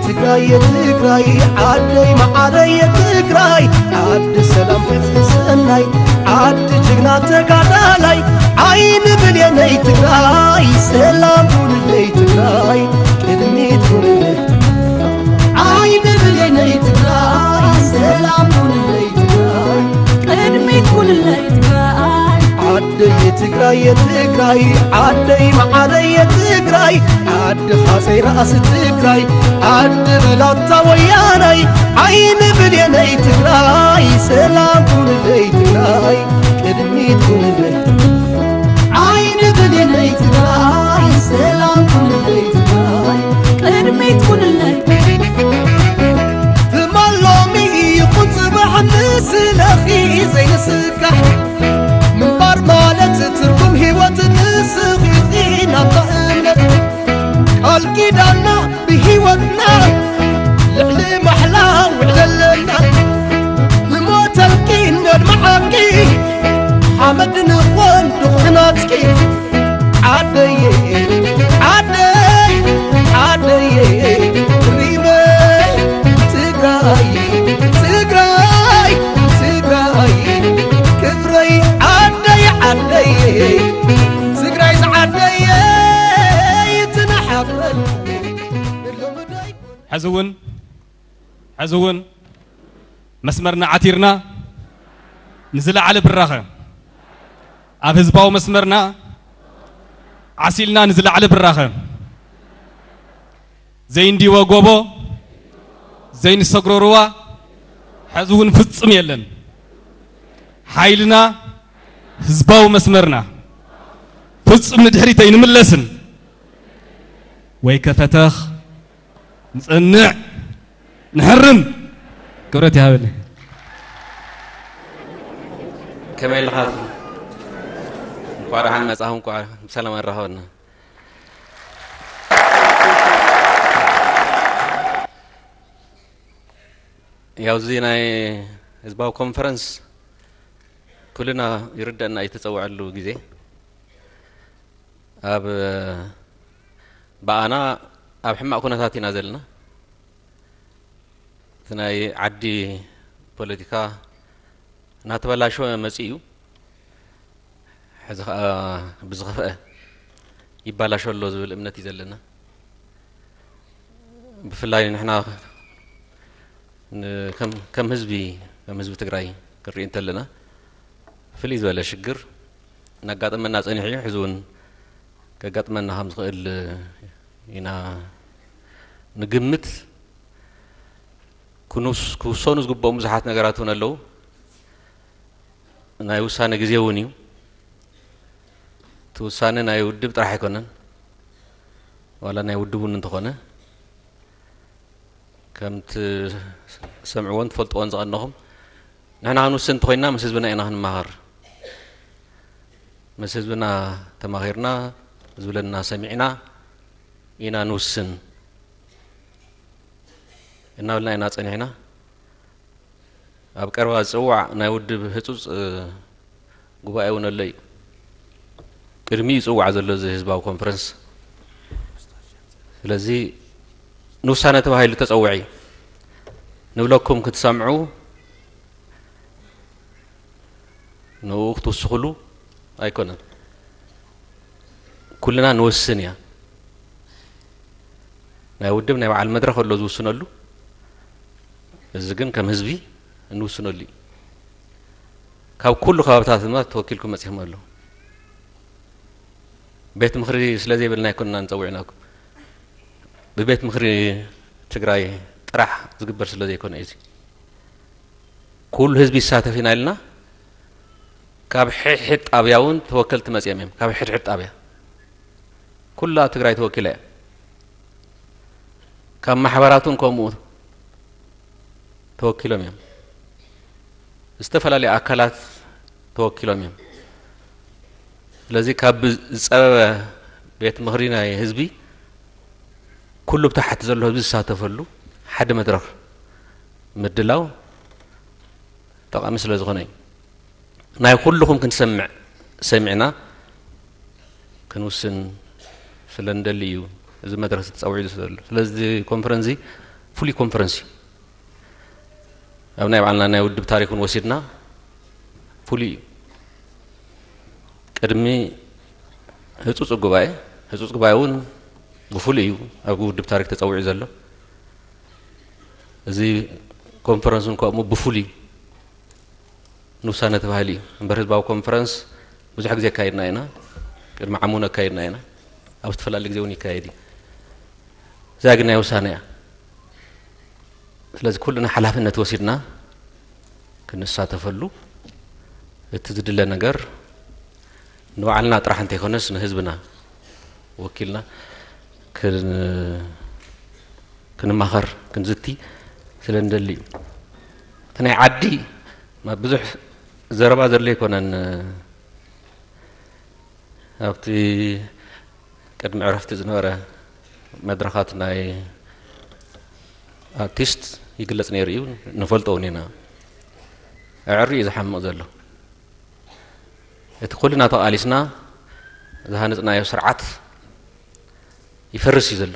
ትግራይ የትግራይ ዓደይ መዓረይ የትግራይ ዓዲ ሰላም ፍትሒ ሰናይ ዓዲ ጅግና ተጋዳላይ ዓይኒ ብሌነይ ትግራይ ሰላም ኩንለይ ትግራይ ቅድሚት ኩንለይ ዓይኒ ብሌነይ ትግራይ ሰላም ኩንለይ ትግራይ ቅድሚት ኩንለይ ትግራይ ዓደይ የትግራይ የትግራይ ዓደይ መዓረይ የትግራይ ዓዲ ሃፀይ ራእሲ ትግራይ ዓዲ ብላታ ወያናይ ዓይኒ ብሌነይ ትግራይ ሰላም ኩንለይ ትግራይ ቅድሚት ኩንለይ ዓይኒ ብሌነይ ትግራይ ሰላም ኩንለይ ትግራይ ቅድሚት ኩንለይ ትማል ሎሚ ይኹን ፅባሕ ንስለኺ ዘይንስካሕ ምንባር ማለት ትርጉም ህይወት ንስኺ ኢኺ ናታ እምነት ቃል ኪዳና ብህይወትና ልዕሊ ማሕላ ውዕለለና ንሞተልኪ ነድምዓኪ ሓመድ ንኾን ድኹናትኪ ዓደየ ዓደይ ዓደየ ሪመይ ትግራይ ትግራይ ትግራይ ክብረይ ዓደይ ዓደየ ትግራይ ዝዓደየ ይትናሓበል ሎምደይ ሕዚ እውን ሕዚ እውን መስመርና ዓቲርና ንዝለዓለ ብራኸ ኣብ ህዝባዊ መስመርና ዓሲልና ንዝለዓለ ብራኸ ዘይንዲወ ጎቦ ዘይንሰግሮ ሩባ ሕዚ እውን ፍጹም የለን። ሓይልና ህዝባዊ መስመርና ፍጹም ንድሕሪት ኣይንምለስን። ወይ ከፈተኽ ንጸንዕ ንሕርም ክብረት ይሃበኒ። ከመይ ኣለኻ? እንኳዕ ደሓን መጻኹም፣ እንኳዕ ብሰላም ኣራኸበና። ያው እዚ ናይ ህዝባዊ ኮንፈረንስ ኩልና ይርደአና እዩ፣ ተጸውዐሉ ግዜ ኣብ ብኣና ኣብ ሕማቕ ኩነታት ኢና ዘለና። እቲ ናይ ዓዲ ፖለቲካ እናተበላሸወ መጺኡ እዩ። ሕዚ ኸኣ ብዝኸፍአ ይባላሾ ኣሎ ዝብል እምነት እዩ ዘለና። ብፍላይ ንሕና ን-፣ ከም፣ ከም ህዝቢ፣ ከም ህዝቢ ትግራይ ክንርኢ እንተለና ፍልይ ዝበለ ሽግር እናጋጠመና ጸኒሑ እዩ። ሕዚ እውን ከጋጥመና ከም ዝኽእል ኢና ንግምት። ክንውስ-፣ ክውሰኑ ዝግብኦም ብዙሓት ነገራት እውን ኣለዉ። ናይ ውሳነ ግዜ እውን እዩ። እቲ ውሳነ ናይ ውድብ ጥራሕ ኣይኮነን፣ ዋላ ናይ ውድብ እውን እንተኾነ፣ ከም ትሰምዕዎን ትፈልጥዎን ዝቐነኹም፣ ንሕና ክንውስን እንተኾይንና ምስ ህዝብና ኢና ክንመሃር። ምስ ህዝብና ተማኺርና፣ ዝብለና ሰሚዕና ኢና ንውስን እናበልና ኢና ጸኒሕና። ኣብ ቀረባ ዝጽዋዕ ናይ ውድብ ህጹጽ፣ እ፣ ጉባኤ እውን ኣሎ እዩ። ቅድሚኡ ይጽዋዕ ዘሎ እዚ ህዝባዊ ኮንፈረንስ። ስለዚ ንውሳነ ተባሂሉ ተጸውዐ እዩ። ንብለኩም ክትሰምዑ ንኡ ክትውስኹሉ ኣይኮነን። ኩልና ንወስን እያ። ናይ ውድብ ናይ በዓል መድረኽ ኣሎ ዝውስነሉ። እዚ ግን ከም ህዝቢ እንውስነሉ እዩ። ካብ ኩሉ ከባብታት ድማ ተወኪልኩም መጺኹም ኣለዉ። ቤት ምኽሪ ስለ ዘይብልና ኣይኮንና ንጸውዕናኩም። ብቤት ምኽሪ ትግራይ ጥራሕ ዝግበር ስለ ዘይኮነ እዩ እዚ። ኩሉ ህዝቢ ይሳተፍ ኢና ኢልና፣ ካብ ሕድሕድ ጣብያ እውን ተወከልቲ መጺኦም እዮም። ካብ ሕድሕድ ጣብያ ኩላ ትግራይ ተወኪላ እያ። ካብ ማሕበራት እውን ከምኡ ተወኪሎም እዮም። ዝተፈላለዩ ኣካላት ተወኪሎም እዮም። ስለዚ ካብ ዝጸበበ ቤት ምኽሪ ናይ ህዝቢ ኩሉ ብታሕቲ ዘሎ ህዝቢ ዝሳተፈሉ ሓደ መድረኽ ምድላው ጠቓሚ ስለ ዝኾነ እዩ። ናይ ኩልኹም ክንሰምዕ ሰሚዕና ክንውስን ስለ እንደሊ እዩ እዚ መድረኽ ተጸዊዑ ዘሎ። ስለዚ ኮንፈረንስ እዚ ፍሉይ ኮንፈረንስ እዩ። ኣብ ናይ ባዕልና ናይ ውድብ ታሪክ እውን ወሲድና ፍሉይ እዩ። ቅድሚ ህፁፅ ጉባኤ፣ ህፁፅ ጉባኤ እውን ብፍሉይ እዩ ኣብ ውድብ ታሪክ ተፀዊዑ ዘሎ። እዚ ኮንፈረንስ እውን ከምኡ ብፍሉይ ንውሳነ ተባሂሉ እዩ እምበር ህዝባዊ ኮንፈረንስ ብዙሕ ግዜ ኣካይድና ኢና። ቅድሚ ዓሙን ኣካይድና ኢና። ኣብ ዝተፈላለየ ግዜ እውን ይካየድ እዩ። እዚኣ ግን ናይ ውሳነ እያ። ስለዚ ኩልና ሓላፍነት ወሲድና ክንሳተፈሉ፣ እቲ ዝድለ ነገር ንባዕልና ጥራሕ እንተይኮነስ ንህዝብና ወኪልና ክን- ክንማኸር ክንዝቲ ስለ እንደሊ እዩ። እቲ ናይ ዓዲ ብዙሕ ዘረባ ዘድልዮ ኣይኮነን። ኣብቲ ቅድሚ ዕረፍቲ ዝነበረ መድረኻት ናይ ኣርቲስት ይግለጽ ነይሩ እዩ፣ ንፈልጦ እውን ኢና። ኣዕሪ እዩ ዝሓምቕ ዘሎ። እቲ ኩልና ተቓሊስና ዝሃነጽናዮ ስርዓት ይፈርስ እዩ ዘሎ።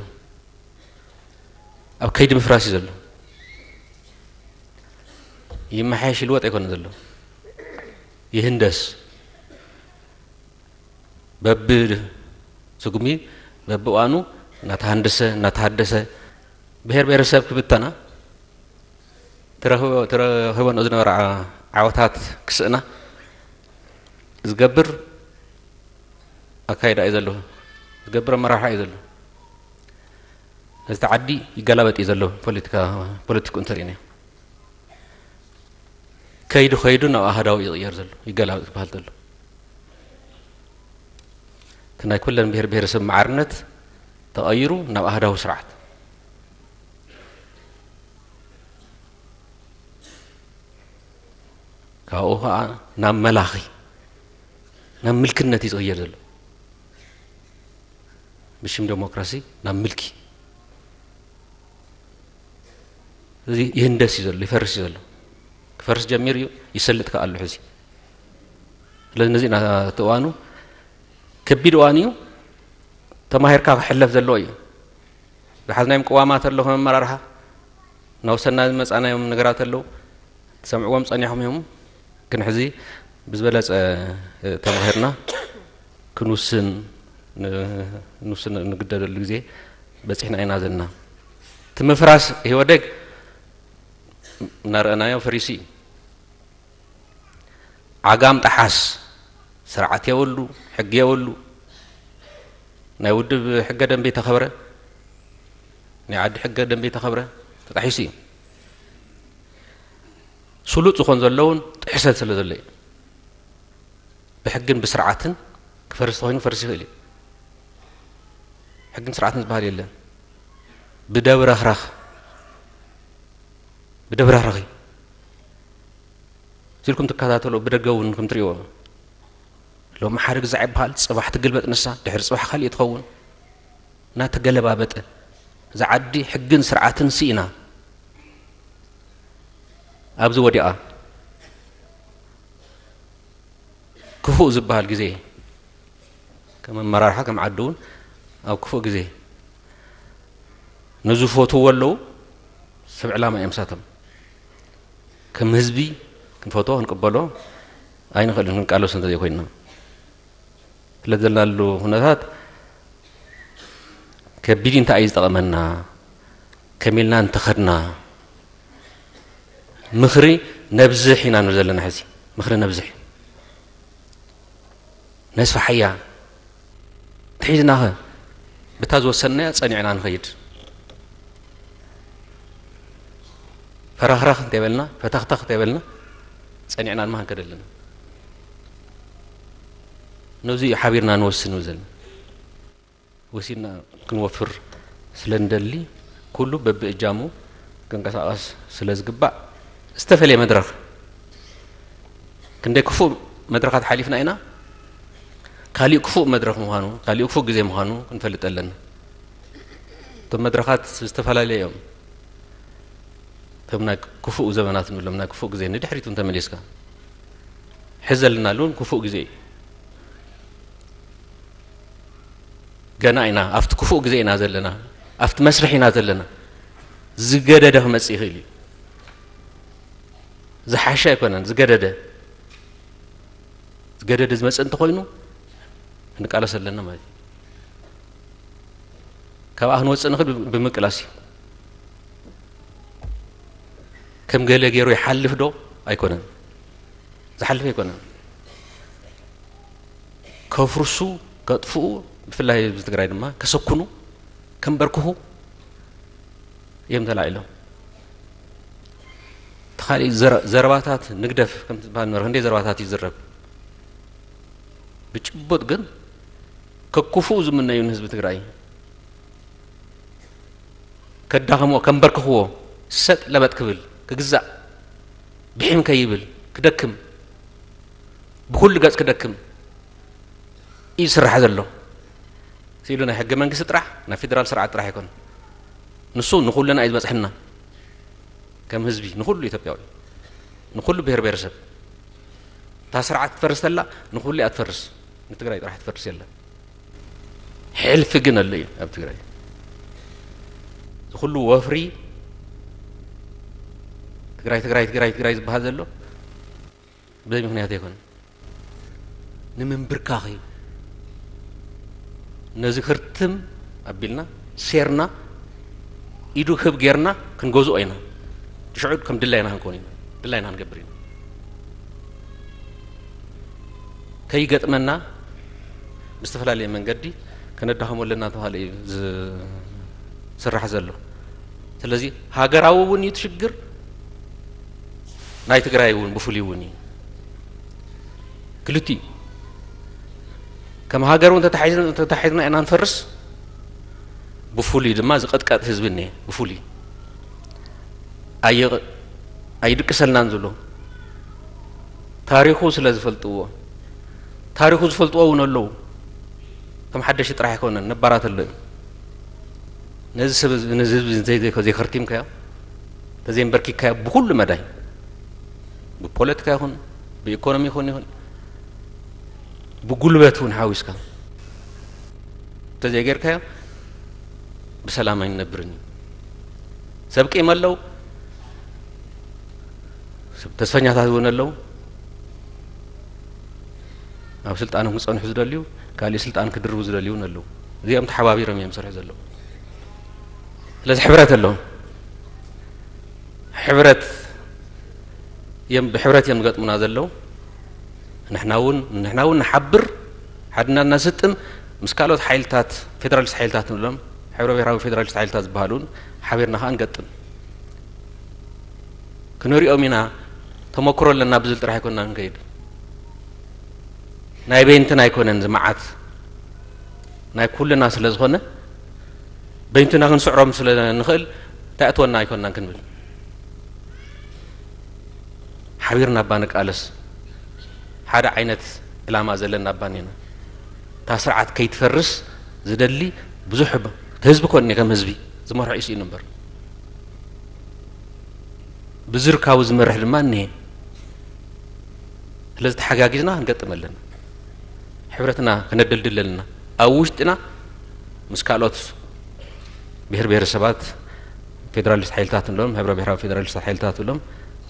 ኣብ ከይዲ ምፍራስ እዩ ዘሎ። ይመሓየሽ ይልወጥ ኣይኮነ ዘሎ። ይህንደስ። በብስጉሚ በብእዋኑ እናተሃንደሰ እናተሃደሰ ብሔር ብሔረሰብ ክብተና፣ ተረኽቦ- ተረኺቦ ዝነበረ ዓወታት ክስእና ዝገብር ኣካይዳ እዩ ዘሎ። ዝገብር ኣመራርሓ እዩ ዘሎ። ነዚ ዓዲ ይገላበጥ እዩ ዘሎ። ፖለቲካ ፖለቲኩ እንተሪእና ከይዱ ከይዱ ናብ ኣሃዳዊ ይቕየር ዘሎ፣ ይገላበጥ ክበሃል ዘሎ። እቲ ናይ ኩለን ብሔር ብሔረሰብ ማዕርነት ተቐይሩ ናብ ኣሃዳዊ ስርዓት። ካብኡ ከዓ ናብ መላኺ፣ ናብ ምልክነት እዩ ዝቕየር ዘሎ። ብሽም ዴሞክራሲ ናብ ምልኪ። እዚ ይህንደስ እዩ ዘሎ፣ ይፈርስ እዩ ዘሎ። ክፈርስ ጀሚሩ እዩ፣ ይሰልጥ ከዓ ኣሎ ሕዚ። ስለዚ ነዚ ኢና እቲ እዋኑ ከቢድ እዋን እዩ፣ ተማሂርካ ክሕለፍ ዘለዎ እዩ። ዝሓዝናዮም ቅዋማት ኣሎ፣ ከም ኣመራርሓ እናወሰና ዝመፃናዮም ነገራት ኣለዉ። ትሰምዕዎም ፀኒሖም እዮም። ግን ሕዚ ብዝበለፀ ተማሂርና ክንውስን ንውስን እንግደደሉ ግዜ በፂሕና ኢና ዘለና። እቲ ምፍራስ ኢህወደግ እናረኣናዮ ፈሪሱ እዩ። ዓጋም ጠሓስ፣ ስርዓት የብሉ፣ ሕጊ የብሉ። ናይ ውድብ ሕገ ደንቢ ተኸብረ፣ ናይ ዓዲ ሕገ ደንቢ ተኸብረ፣ ተጣሒሱ እዩ። ስሉጥ ዝኾን ዘለውን ጥሕሰት ስለ ዘሎ እዩ። ብሕግን ብስርዓትን ክፈርስ ተኾይኑ ፈርስ ይኽእል እዩ። ሕግን ስርዓትን ዝበሃል የለን። ብደብረኽረኽ ብደብረኽረኽ እዩ። ኢልኩም ትከታተሎ፣ ብደገ እውን ከም ትሪእዎ ሎሚ ሓደ ግዛዕ ይበሃል፣ ፅባሕ ትግልበጥ ንሳ፣ ድሕሪ ፅባሕ ካሊእ ትኸውን። እናተገለባበጠ እዛ ዓዲ ሕግን ስርዓትን ስኢና ኣብዚ ወዲኣ ክፉእ ዝበሃል ግዜ፣ ከም ኣመራርሓ ከም ዓዲ እውን ኣብ ክፉእ ግዜ ንዝፈትዎ ኣለዉ። ሰብ ዕላማ እዮም ሳቶም። ከም ህዝቢ ክንፈትዎ ክንቅበሎ ኣይንኽእልን፣ ክንቃለሶ እንተዘይኮይንና። ስለ ዘለናሉ ኩነታት ከቢድ እንታይ እዩ ዝጠቐመና? ከመይ ኢልና እንተኸድና? ምኽሪ ነብዝሕ ኢና ንብል ዘለና። ሕዚ ምኽሪ ነብዝሕ፣ ነስፋሓያ። ተሒዝናኸ ብታ ዝወሰንናያ ጸኒዕና ንኸይድ። ፈራኽራኽ እንተይበልና፣ ፈተኽተኽ እንተይበልና፣ ጸኒዕና ድማ ክንከድ ኣለና። ነዚ እዩ ሓቢርና ንወስን ንብል ዘለና። ወሲድና ክንወፍር ስለ እንደሊ፣ ኩሉ በብእጃሙ ክንቀሳቐስ ስለ ዝግባእ፣ ዝተፈለየ መድረኽ፣ ክንደይ ክፉእ መድረኻት ሓሊፍና ኢና፣ ካሊእ ክፉእ መድረኽ ምዃኑ፣ ካሊእ ክፉእ ግዜ ምዃኑ ክንፈልጥ ኣለና። እቶም መድረኻት ዝተፈላለዩ እዮም። እቶም ናይ ክፉእ ዘመናት ንብሎም፣ ናይ ክፉእ ግዜ ንድሕሪት እውን ተመሊስካ፣ ሕዚ ዘለናሉ እውን ክፉእ ግዜ እዩ። ገና ኢና ኣብቲ ክፉእ ግዜ ኢና ዘለና፣ ኣብቲ መስርሕ ኢና ዘለና። ዝገደደ ክመጽእ ይኽእል እዩ። ዝሓሸ ኣይኮነን፣ ዝገደደ። ዝገደደ ዝመጽእ እንተኾይኑ ክንቃለስ ኣለና ማለት እዩ። ካብኣ ክንወጽእ ንኽእል ብምቅላስ እዩ። ከም ገለ ገይሩ ይሓልፍ ዶ? ኣይኮነን። ዝሓልፍ ኣይኮነን። ከፍርሱ፣ ከጥፍኡ፣ ብፍላይ ህዝቢ ትግራይ ድማ ከሰኩኑ፣ ከንበርክኹ እዮም ተላዒሎም። ተኻሊ ዘረ-፣ ዘረባታት ንግደፍ ከም ዝበሃል ነበረ። ክንደይ ዘረባታት ይዝረብ። ብጭቡጥ ግን ከኩፍኡ ዝምነዩ ንህዝቢ ትግራይ፣ ከዳኸምዎ፣ ከንበርክኽዎ፣ ሰጥ ለበጥ ክብል፣ ክግዛእ፣ ብሒም ከይብል፣ ክደክም፣ ብኩሉ ገጽ ክደክም እዩ ዝስራሕ ዘሎ። ሲሉ ናይ ሕገ መንግስቲ ጥራሕ፣ ናይ ፌደራል ስርዓት ጥራሕ ኣይኮነን። ንሱ ንኹልና እዩ ዝበጽሐና። ከም ህዝቢ፣ ንኹሉ ኢትዮጵያዊ፣ ንኹሉ ብሔር ብሔረሰብ። እታ ስርዓት ክትፈርስ ተላ፣ ንኹሉ እያ ትፈርስ። ንትግራይ ጥራሕ ትፈርስ የለን። ሕልፊ ግን ኣሎ እዩ ኣብ ትግራይ። እዚ ኩሉ ወፍሪ ትግራይ፣ ትግራይ፣ ትግራይ፣ ትግራይ ዝበሃል ዘሎ ብዘይ ምኽንያት ኣይኮነን። ንምንብርካኽ እዩ። ነዚ ክርትም ኣቢልና፣ ሴርና፣ ኢዱ ክብ ጌርና ክንገዝኦ ኢና። ሽዑ ከም ድላይና ክንኮን ኢና። ድላይና ክንገብር ኢና። ከይገጥመና ብዝተፈላለየ መንገዲ ከነዳኸሞ ኣለና ተባሃለ እዩ ዝስራሕ ዘሎ። ስለዚ ሃገራዊ እውን እዩ እቲ ሽግር፣ ናይ ትግራይ እውን ብፍሉይ እውን እዩ። ክልቲኡ ከም ሃገር እውን ተታሒዝና፣ ተታሒዝና ኢና ንፈርስ። ብፍሉይ ድማ ዝቐጥቀጥ ህዝቢ እኒሀ። ብፍሉይ ኣየ-፣ ኣይድቅሰልናን ዝብሎ ታሪኹ ስለ ዝፈልጥዎ፣ ታሪኹ ዝፈልጥዎ እውን ኣለዉ። ከም ሓደሽቲ ጥራሕ ኣይኮነን፣ ነባራት ኣሎ እዩ። ነዚ ሰብ እዚ፣ ነዚ ህዝቢ እዚ እንተዘይ-፣ ዘይከርቲምካዮ፣ እንተዘይንበርኪካዮ ብኩሉ መዳይ፣ ብፖለቲካ ይኹን፣ ብኢኮኖሚ ይኹን፣ ይኹን፣ ብጉልበት እውን ሓዊስካ እንተዘይጌርካዮ፣ ብሰላም ኣይንነብርን እዩ። ሰብ ቂም ኣለዉ፣ ሰብ ተስፈኛታት እውን ኣለዉ። ኣብ ስልጣኖም ክጸንሑ ዝደልዩ፣ ካሊእ ስልጣን ክድርቡ ዝደልዩ እውን ኣለዉ። እዚኦም ተሓባቢሮም እዮም ዝሰርሑ ዘለዉ። ስለዚ ሕብረት ኣለዎም። ሕብረት እዮም፣ ብሕብረት እዮም ዝገጥሙና ዘለዉ። ንሕና እውን፣ ንሕና እውን ንሓብር፣ ሓድና እናስጥም፣ ምስ ካልኦት ሓይልታት፣ ፌደራሊስት ሓይልታት ንብሎም፣ ሕብረ ብሔራዊ ፌደራሊስት ሓይልታት ዝበሃሉ እውን ሓቢርና ከኣ ንገጥም። ክንሪኦም ኢና፣ ተመክሮ ኣለና ብዝብል ጥራሕ ኣይኮንና ንከይድ። ናይ በይንትና ኣይኮነን፣ እዚ መዓት ናይ ኩልና ስለ ዝኾነ፣ በይንትና ክንስዕሮም ስለ ንኽእል፣ እንታይ ኣእትወና ኣይኮንናን ክንብል። ሓቢርና እባ ንቃለስ። ሓደ ዓይነት ዕላማ ዘለና እባ እኒና። እታ ስርዓት ከይትፈርስ ዝደሊ ብዙሕ ህዝቢ፣ ህዝቢ ኮን ከም ህዝቢ ዝመርሖ እዩ ስኢኑ እምበር፣ ብዝርካቡ ዝመርሕ ድማ እኒሀ። ስለዚ ተሓጋጊዝና ክንገጥም ኣለና። ሕብረትና ከነደልድል ኣለና። ኣብ ውሽጥና ምስ ካልኦት ብሔር ብሔረሰባት፣ ፌደራሊስት ሓይልታት ንብሎም፣ ሕብረ ብሔራዊ ፌደራሊስት ሓይልታት ንብሎም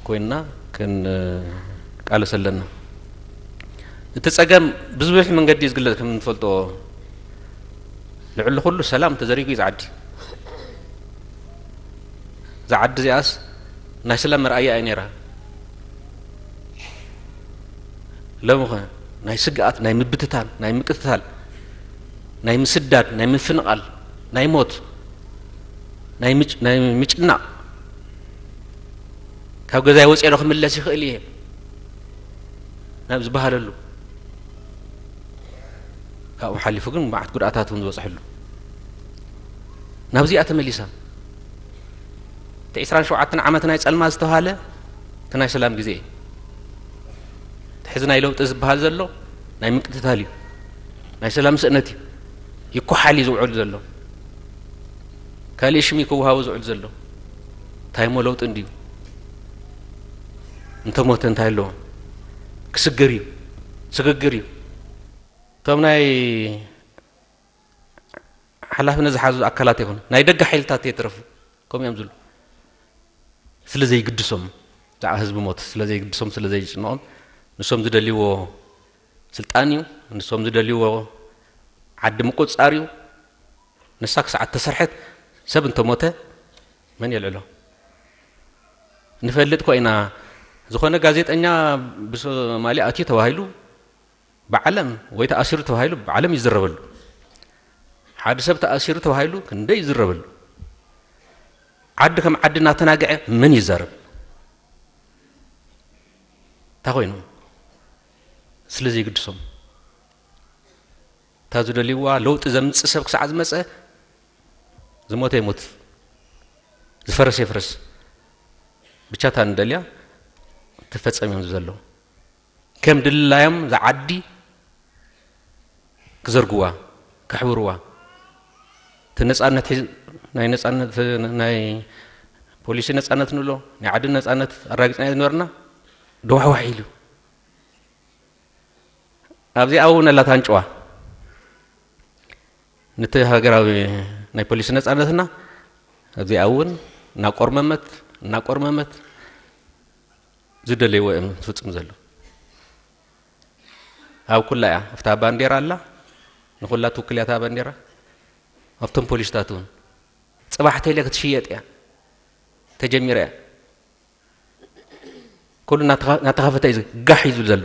ኮይንና ክንቃለስ ኣለና። እቲ ጸገም ብዝብሒ መንገዲ እዩ ዝግለጽ። ከም እንፈልጦ፣ ልዕሊ ኩሉ ሰላም ተዘሪጉ እዩ ዝዓዲ። እዛ ዓዲ እዚኣስ ናይ ሰላም መርኣያ እያ ነይራ። ሎሚ ኸ ናይ ስግኣት፣ ናይ ምብትታን፣ ናይ ምቅትታል፣ ናይ ምስዳድ፣ ናይ ምፍንቓል፣ ናይ ሞት፣ ናይ ምጭ-፣ ናይ ምጭናቕ፣ ካብ ገዛይ ወፅየ ዶ ክምለስ ይኽእል እየ ናብ ዝበሃለሉ፣ ካብኡ ሓሊፉ ግን መዓት ጉድኣታት እውን ዝበፅሐሉ፣ ናብዚኣ ተመሊሳ። እቲ ዕስራን ሸውዓተን ዓመት ናይ ጸልማ ዝተባሃለ እቲ ናይ ሰላም ግዜ እዩ። እቲ ሕዚ ናይ ለውጢ ዝበሃል ዘሎ ናይ ምቅትታል እዩ። ናይ ሰላም ስእነት እዩ። ይኮሓል እዩ ዝውዕል ዘሎ። ካልእ ሽም እዩ ክወሃቦ ዝውዕል ዘሎ። እንታይ እሞ ለውጢ እንድዩ? እንተሞተ እንታይ ኣለዎ? ክስገር እዩ። ስግግር እዩ። እቶም ናይ ሓላፍነት ዝሓዙ ኣካላት ይኹን ናይ ደገ ሓይልታት የተረፉ ከምኡ እዮም ዝብሉ። ስለ ዘይግድሶም፣ ብዛዕባ ህዝቢ ሞት ስለ ዘይግድሶም፣ ስለ ዘይጭንቖም፣ ንሶም ዝደልይዎ ስልጣን እዩ፣ ንሶም ዝደልይዎ ዓዲ ምቁጽጻር እዩ። ንሳ ክሳዕ እተሰርሐት ሰብ እንተሞተ መን የልዕሎ? ንፈልጥ ኮ ኢና። ዝኾነ ጋዜጠኛ ብሶማሊ ኣትዩ ተባሂሉ ብዓለም፣ ወይ ተኣሲሩ ተባሂሉ ብዓለም ይዝረበሉ። ሓደ ሰብ ተኣሲሩ ተባሂሉ ክንደይ ይዝረበሉ። ዓዲ ከም ዓዲ እናተናግዐ መን ይዛረብ? እንታይ ኮይኑ? ስለ ዘይግድሶም። እታ ዝደልይዋ ለውጢ ዘምጽእ ሰብ ክሳዕ ዝመጸ፣ ዝሞተ ይሙት፣ ዝፈረሰ ይፍረስ፣ ብቻ እታ ንደልያ ትፈጸም እዮም ዘለዉ። ከም ድላዮም ዝዓዲ ክዘርግዋ፣ ከሕብርዋ። እቲ ነጻነት ሒዝ-፣ ናይ ነጻነት፣ ናይ ፖሊሲ ነጻነት ንብሎ፣ ናይ ዓዲ ነጻነት ኣራጊጽና ዝነበርና፣ ደዋሕዋሕ ኢሉ። ኣብዚኣ እውን ኣላታ ኣንጭዋ። ነቲ ሃገራዊ ናይ ፖሊሲ ነጻነትና ኣብዚኣ እውን እናቆርመመት፣ እናቆርመመት ዝደለይዎ እዮም ዝፍጽሙ ዘለዉ። ኣብ ኩላ እያ። ኣብታ ባንዴራ ኣላ፣ ንኹላ ትውክል እያ እታ ባንዴራ። ኣብቶም ፖሊስታት እውን። ጽባሕ ተይለ ክትሽየጥ እያ። ተጀሚራ እያ። ኩሉ እናተኸ-፣ እናተኸፈተ እዩ ዝ-፣ ጋሕ እዩ ዝብል ዘሎ።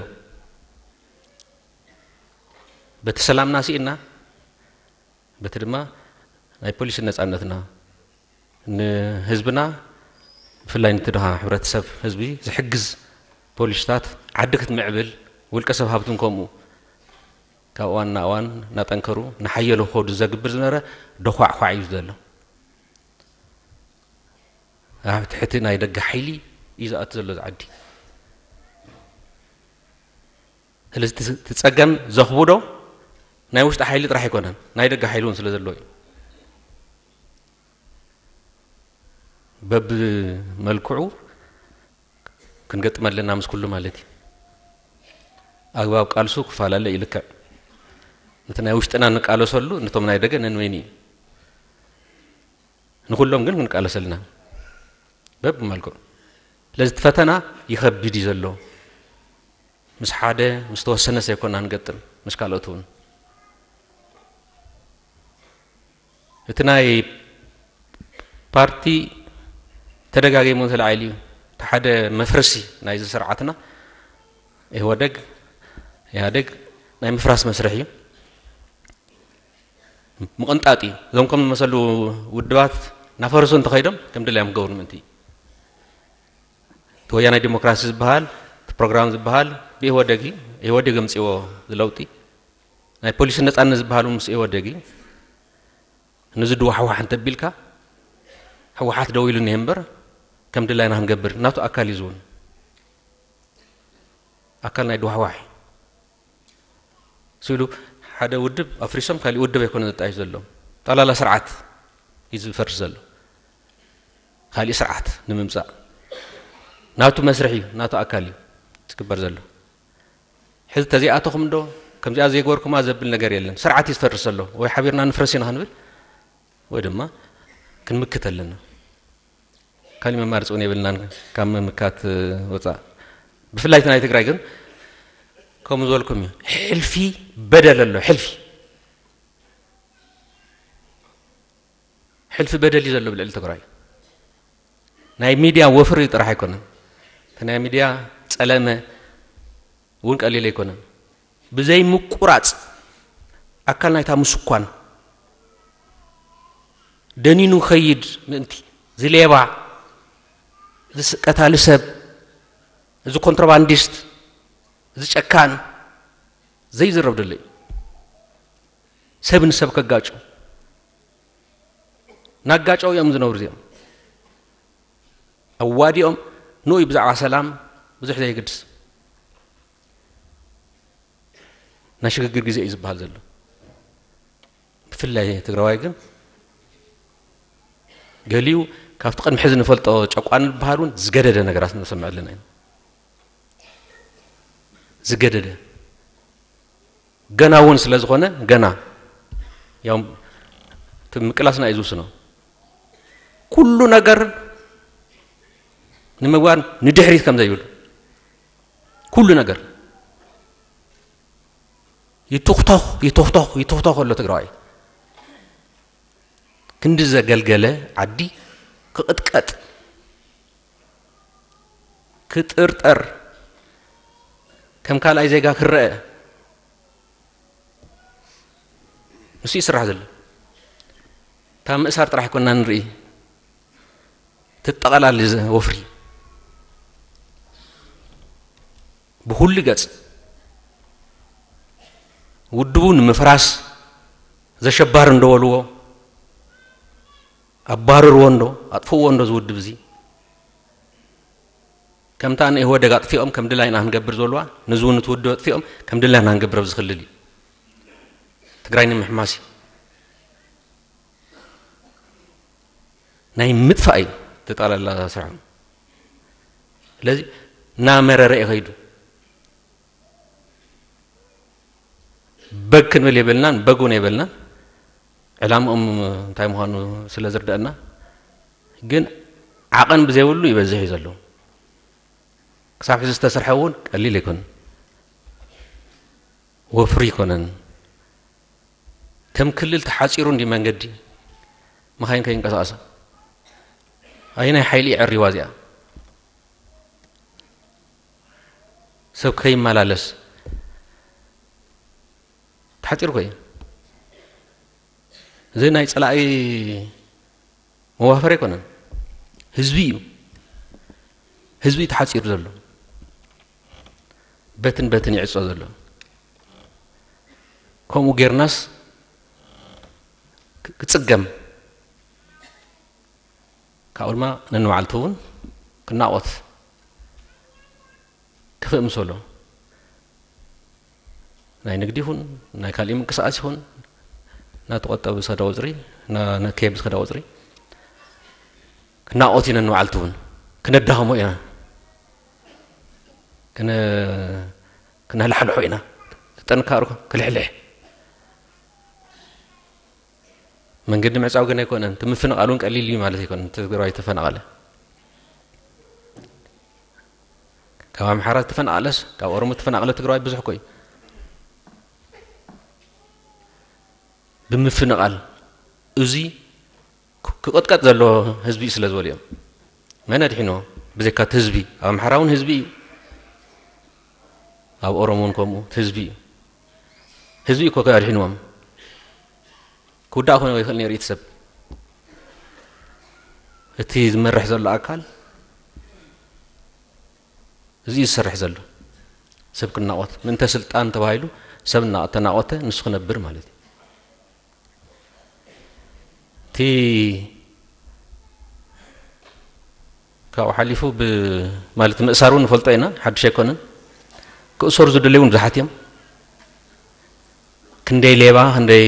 በቲ ሰላምና ስኢና፣ በቲ ድማ ናይ ፖሊሲ ነጻነትና፣ ንህዝብና፣ ብፍላይ ነቲ ድኻ ሕብረተሰብ ህዝቢ ዝሕግዝ ፖሊሲታት፣ ዓዲ ክትምዕብል፣ ውልቀ ሰብ ሃብትን ከምኡ፣ ካብ እዋን ናብ እዋን እናጠንከሩ፣ እናሓየሉ ክኸዱ ዘግብር ዝነበረ ደዃዕኳዕ እዩ ዘሎ። ኣብ ትሕቲ ናይ ደገ ሓይሊ እዩ ዝኣቱ ዘሎ እዚ ዓዲ። ስለዚ እቲ፣ እቲ ጸገም ዘኽብዶ ናይ ውሽጢ ሓይሊ ጥራሕ ኣይኮነን፣ ናይ ደገ ሓይሊ እውን ስለ ዘለዎ እዩ። በብመልክዑ ክንገጥም ኣለና ምስ ኩሉ ማለት እዩ። ኣግባብ ቃልሱ ክፈላለ እዩ ልክዕ። ነቲ ናይ ውሽጥና ንቃለሰሉ፣ ነቶም ናይ ደገ ነንበይኑ እዩ። ንኹሎም ግን ክንቃለስ ኣለና በብመልክዑ። ስለዚ እቲ ፈተና ይኸብድ እዩ ዘሎ። ምስ ሓደ፣ ምስ ተወሰነ ሰይኮና ንገጥም፣ ምስ ካልኦት እውን። እቲ ናይ ፓርቲ ተደጋጊሙ ተላዒሉ እዩ። እቲ ሓደ መፍረሲ ናይዚ ስርዓትና ኢህወደግ፣ ኢህኣደግ ናይ ምፍራስ መስርሕ እዩ። ምቕንጣጥ እዩ። እዞም ከም ዝመሰሉ ውድባት እናፈረሱ እንተኸይዶም ከም ድላዮም ክገብሩ ምእንቲ እዩ። እቲ ወያናይ ዲሞክራሲ ዝበሃል፣ እቲ ፕሮግራም ዝበሃል ብኢህወደግ እዩ። ኢህወደግ ኣምፅዎ ዝለውጢ። ናይ ፖሊሲ ነፃነት ዝበሃል እውን ምስ ኢህወደግ እዩ። ነዚ ድዋሕዋሕ እንተቢልካ፣ ህወሓት ደው ኢሉ እኒሀ እምበር፣ ከም ድላይና ክንገብር፣ ናቱ ኣካል እዩ ዝውን። ኣካል ናይ ድዋሕዋሕ እዩ። ስኢሉ ሓደ ውድብ ኣፍሪሶም ካሊእ ውድብ ኣይኮነ ዘጣይሽ ዘሎ። ጠላላ ስርዓት እዩ ዝፈርስ ዘሎ። ካሊእ ስርዓት ንምምጻእ ናቱ መስርሕ እዩ፣ ናቱ ኣካል እዩ ዝግበር ዘሎ። ሕዚ ተዘይኣተኹም እንዶ፣ ከምዚኣ ዘይገበርኩማ ዘብል ነገር የለን። ስርዓት እዩ ዝፈርስ ዘሎ። ወይ ሓቢርና ንፍረስ ኢና ክንብል፣ ወይ ድማ ክንምክት ኣለና። ካሊእ መማርፂ እውን የብልናን ካብ ምምካት ወፃእ። ብፍላይ እቲ ናይ ትግራይ ግን ከምኡ ዝበልኩም እዩ። ሕልፊ በደል ኣሎ፣ ሕልፊ። ሕልፊ በደል እዩ ዘሎ ብልዕሊ ትግራይ። ናይ ሚድያ ወፍሪ ጥራሕ ኣይኮነን። እቲ ናይ ሚድያ ፀለመ እውን ቀሊል ኣይኮነን። ብዘይ ምቁራፅ ኣካል ናይታ ምስኳን ደኒኑ ከይድ ምእንቲ፣ እዚ ሌባ፣ እዚ ስ-፣ ቀታሊ ሰብ፣ እዚ ኮንትሮባንዲስት፣ እዚ ጨካን ዘይዝረብ ደሎ እዩ። ሰብ ንሰብ ከጋጩ፣ ናጋጨው እዮም ዝነብሩ እዚኦም። ኣዋዲኦም ንኡ ብዛዕባ ሰላም ብዙሕ ዘይግድስ። ናይ ሽግግር ግዜ እዩ ዝበሃል ዘሎ። ብፍላይ ትግራዋይ ግን ገሊኡ ካብቲ ቅድሚ ሕዚ ንፈልጦ ጨቋኒ ዝበሃል እውን ዝገደደ ነገራት ንሰምዕ ኣለና ኢና። ዝገደደ። ገና እውን ስለ ዝኾነ፣ ገና ያው እቲ ምቅላስና እዩ ዝውስኖ። ኩሉ ነገር ንምግባር ንድሕሪት ከም ዘይብሉ ኩሉ ነገር ይትኽተኽ ይትኽተኽ ይትኽተኽ ኣሎ ትግራዋይ። ክንዲ ዘገልገለ ዓዲ ክቕጥቀጥ፣ ክጥርጠር፣ ከም ካልኣይ ዜጋ ክረአ፣ ንሱ ይስራሕ ዘሎ። እታ ምእሳር ጥራሕ ኣይኮና ንርኢ፣ ትጠቐላሊ ወፍሪ ብኩሉ ገጽ ውድቡ ንምፍራስ ዘሸባር እንደበልዎ ኣባርርዎ እንዶ ኣጥፍዎ እንዶ ዝውድብ እዚ ከምታ ንኢህወደግ ኣጥፊኦም ከም ድላይና ክንገብር ዘለዋ፣ ነዚ እውን እቲ ውድብ ኣጥፊኦም ከም ድላይና ክንገብር ኣብዚ ክልል እዩ። ትግራይ ንምሕማስ እዩ። ናይ ምጥፋእ እዩ ተጣላላ ስርሖም። ስለዚ እናመረረ እዩ ከይዱ። በግ ክንብል የብልናን፣ በግ እውን የብልናን። ዕላምኦም እንታይ ምዃኑ ስለ ዝርደአና፣ ግን ዓቐን ብዘይብሉ ይበዝሕ እዩ ዘሎ። ክሳብ ሕዚ ዝተሰርሐ እውን ቀሊል ኣይኮነን፣ ወፍሪ ኣይኮነን። ከም ክልል ተሓፂሩ እንዲ መንገዲ፣ መኻይን ከይንቀሳቐሳ፣ ኣየናይ ሓይሊ የዕሪዋ እዚኣ? ሰብ ከይመላለስ ተሓፂሩ እኮ እዩ። እዚ ናይ ፀላኢ መዋፈሪ ኣይኮነን፣ ህዝቢ እዩ። ህዝቢ እዩ ተሓፂሩ ዘሎ፣ በትን በትን ይዕፆ ዘሎ። ከምኡ ጌርናስ ክ- ክፅገም፣ ካብኡ ድማ ነንባዕልቱ እውን ክናቆት ክፍእ ምሰሎ፣ ናይ ንግዲ ይኹን ናይ ካልእ ምንቅስቃስ ይኹን፣ እናተቆጠበ ዝኸዳ ወፅሪ፣ እና- እናካየደ ዝኸዳ ወፅሪ ክናቆት ኢና። ነንባዕልቱ እውን ክነዳኸሞ ኢና፣ ክነ- ክነላሕልሖ ኢና። ጥንካሩ ክልሕልሕ። መንገዲ ምዕፃው ግን ኣይኮነን፣ እቲ ምፍንቓል እውን ቀሊል እዩ ማለት ኣይኮነን። እቲ ትግራዋይ ተፈናቐለ፣ ካብ ኣምሓራ ተፈናቐለስ ካብ ኦሮሞ ተፈናቐለ ትግራዋይ ብዙሕ እኮ እዩ። ብምፍንቓል እዚ ክቕጥቀጥ ዘለዎ ህዝቢ እዩ ስለ ዝበሉ እዮም። መን ኣድሒኖ? ብዘይካ እቲ ህዝቢ። ኣብ ኣምሓራ እውን ህዝቢ እዩ፣ ኣብ ኦሮሞ እውን ከምኡ እቲ ህዝቢ እዩ። ህዝቢ እኮ ኣድሒንዎም። ክውዳእ ኮነ ይኽእል ነይሩ እቲ ሰብ። እቲ ዝመርሕ ዘሎ ኣካል እዚ እዩ ዝሰርሕ ዘሎ። ሰብ ክናቆት ምእንተ ስልጣን ተባሂሉ ሰብ እናተናቆተ ንሱ ክነብር ማለት እዩ። እቲ ካብኡ ሓሊፉ ብ- ማለት ምእሳር እውን ንፈልጦ ኢና፣ ሓድሽ ኣይኮነን። ክእሰሩ ዝደለዩ እውን ብዙሓት እዮም። ክንደይ ሌባ ክንደይ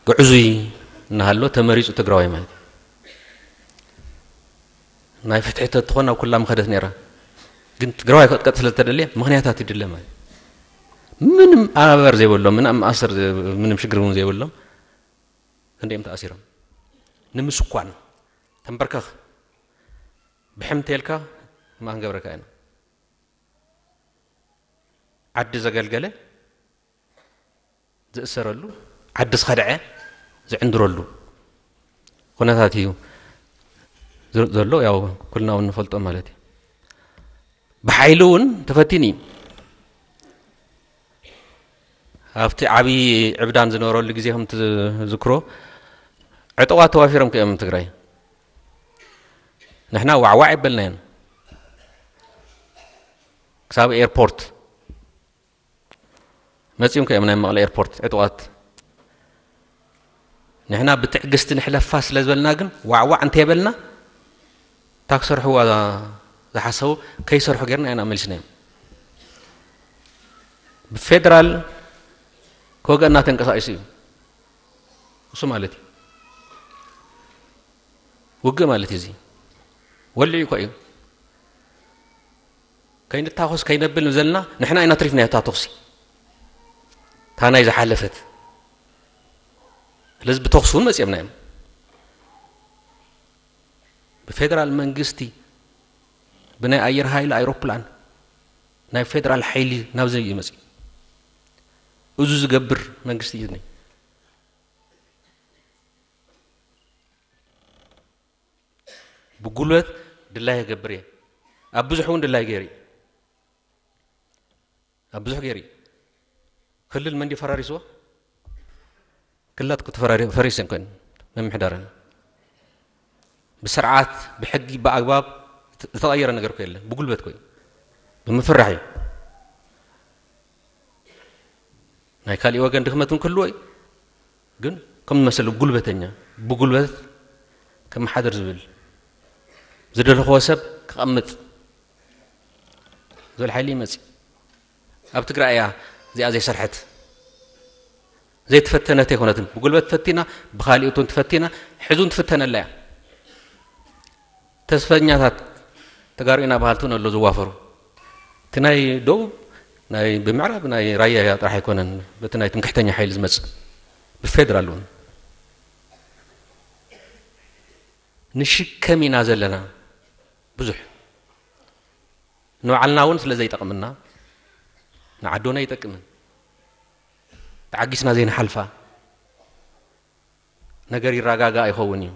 ግዕዙይ እናሃሎ ተመሪፁ ትግራዋይ ማለት እዩ። ናይ ፍትሒ ተትኾን ኣብ ኩላ ምኸደት ነይራ። ግን ትግራዋይ ከጥቀጥ ስለ ዝተደልየ ምኽንያታት ይድለ ማለት እዩ። ምንም ኣበር ዘይብሎም፣ ምንም ማእሰር ዘይ- ምንም ሽግር እውን ዘይብሎም ክንደዮም ተኣሲሮም። ንምስኳን ተንበርከኽ ብሕምቴልካ ማን ገብረካ ኢና። ዓዲ ዘገልገለ ዝእሰረሉ፣ ዓዲ ዝኸድዐ ዝዕንድረሉ ኩነታት እዩ ዝ- ዘሎ። ያው ኩልና እውን ንፈልጦ ማለት እዩ። ብሓይሊ እውን ተፈቲኑ እዩ። ኣብቲ ዓብዪ ዕብዳን ዝነበረሉ ግዜ ከም ትዝክሮ ዕጡቓት ተዋፊሮም ከዮም ትግራይ። ንሕና ዋዕዋዕ ይበልናየን ክሳብ ኤርፖርት መፂኦም ከዮም ናይ መቐለ ኤርፖርት ዕጡቓት። ንሕና ብትዕግስቲ ንሕለፋ ስለ ዝበልና ግን ዋዕዋዕ እንተይበልና እታ ክሰርሕዋ ዝሓሰቡ ከይሰርሑ ጌርና ኢና መሊስናዮም። ብፌደራል ክወገና ተንቀሳቂሱ እዩ እሱ ማለት እዩ። ውግእ ማለት እዩ እዚ። ወሊዑ እኮ እዩ። ከይንታኾስ ከይነብል ዘለና ንሕና ኢና ትሪፍና እታ ተኹሲ። እታ ናይ ዝሓለፈት። ስለዚ ብተኹሲ እውን መፂኦምና እዮም። ብፌደራል መንግስቲ ብናይ ኣየር ሃይል ኣይሮፕላን ናይ ፌደራል ሓይሊ ናብዚ እዩ መፅእ። እዙ ዝገብር መንግስቲ እዩ። ብጉልበት ድላይ ይገብር እየ። ኣብ ብዙሕ እውን ድላይ ገይሩ እዩ። ኣብ ብዙሕ ገይሩ እዩ። ክልል መንዲ ፈራሪስዎ? ክልላት ክትፈራሪ- ፈሪስ እንኮን መምሕዳርን ብስርዓት ብሕጊ ብኣግባብ ዝተቐየረ ነገር ኮ የለን። ብጉልበት ኮይ ብምፍራሕ እዩ። ናይ ካሊእ ወገን ድኽመት እውን ክህልዎ እዩ። ግን ከም መሰለ ጉልበተኛ ብጉልበት ከመሓደር ዝብል ዝደለኽዎ ሰብ ክቐምጥ ዝብል ሓይሊ ይመፅእ። ኣብ ትግራይ እያ እዚኣ ዘይሰርሐት ዘይተፈተነት ኣይኮነትን። ብጉልበት ፈቲና ብካሊኦትን ትፈቲና ሕዙን ትፍተነላ እያ። ተስፈኛታት ተጋሩ ኢና በሃልቲ እውን ኣሎ ዝዋፈሩ። እቲ ናይ ደቡብ ናይ ብምዕራብ ናይ ራያ ጥራሕ ኣይኮነን። በቲ ናይ ትምክሕተኛ ሓይሊ ዝመፅእ ብፌደራል እውን ንሽከም ኢና ዘለና። ብዙሕ ንባዕልና እውን ስለ ዘይጠቕምና ንዓዶና ይጠቅምን ተዓጊስና ዘይንሓልፋ ነገር ይረጋጋእ ኣይኸውን እዩ።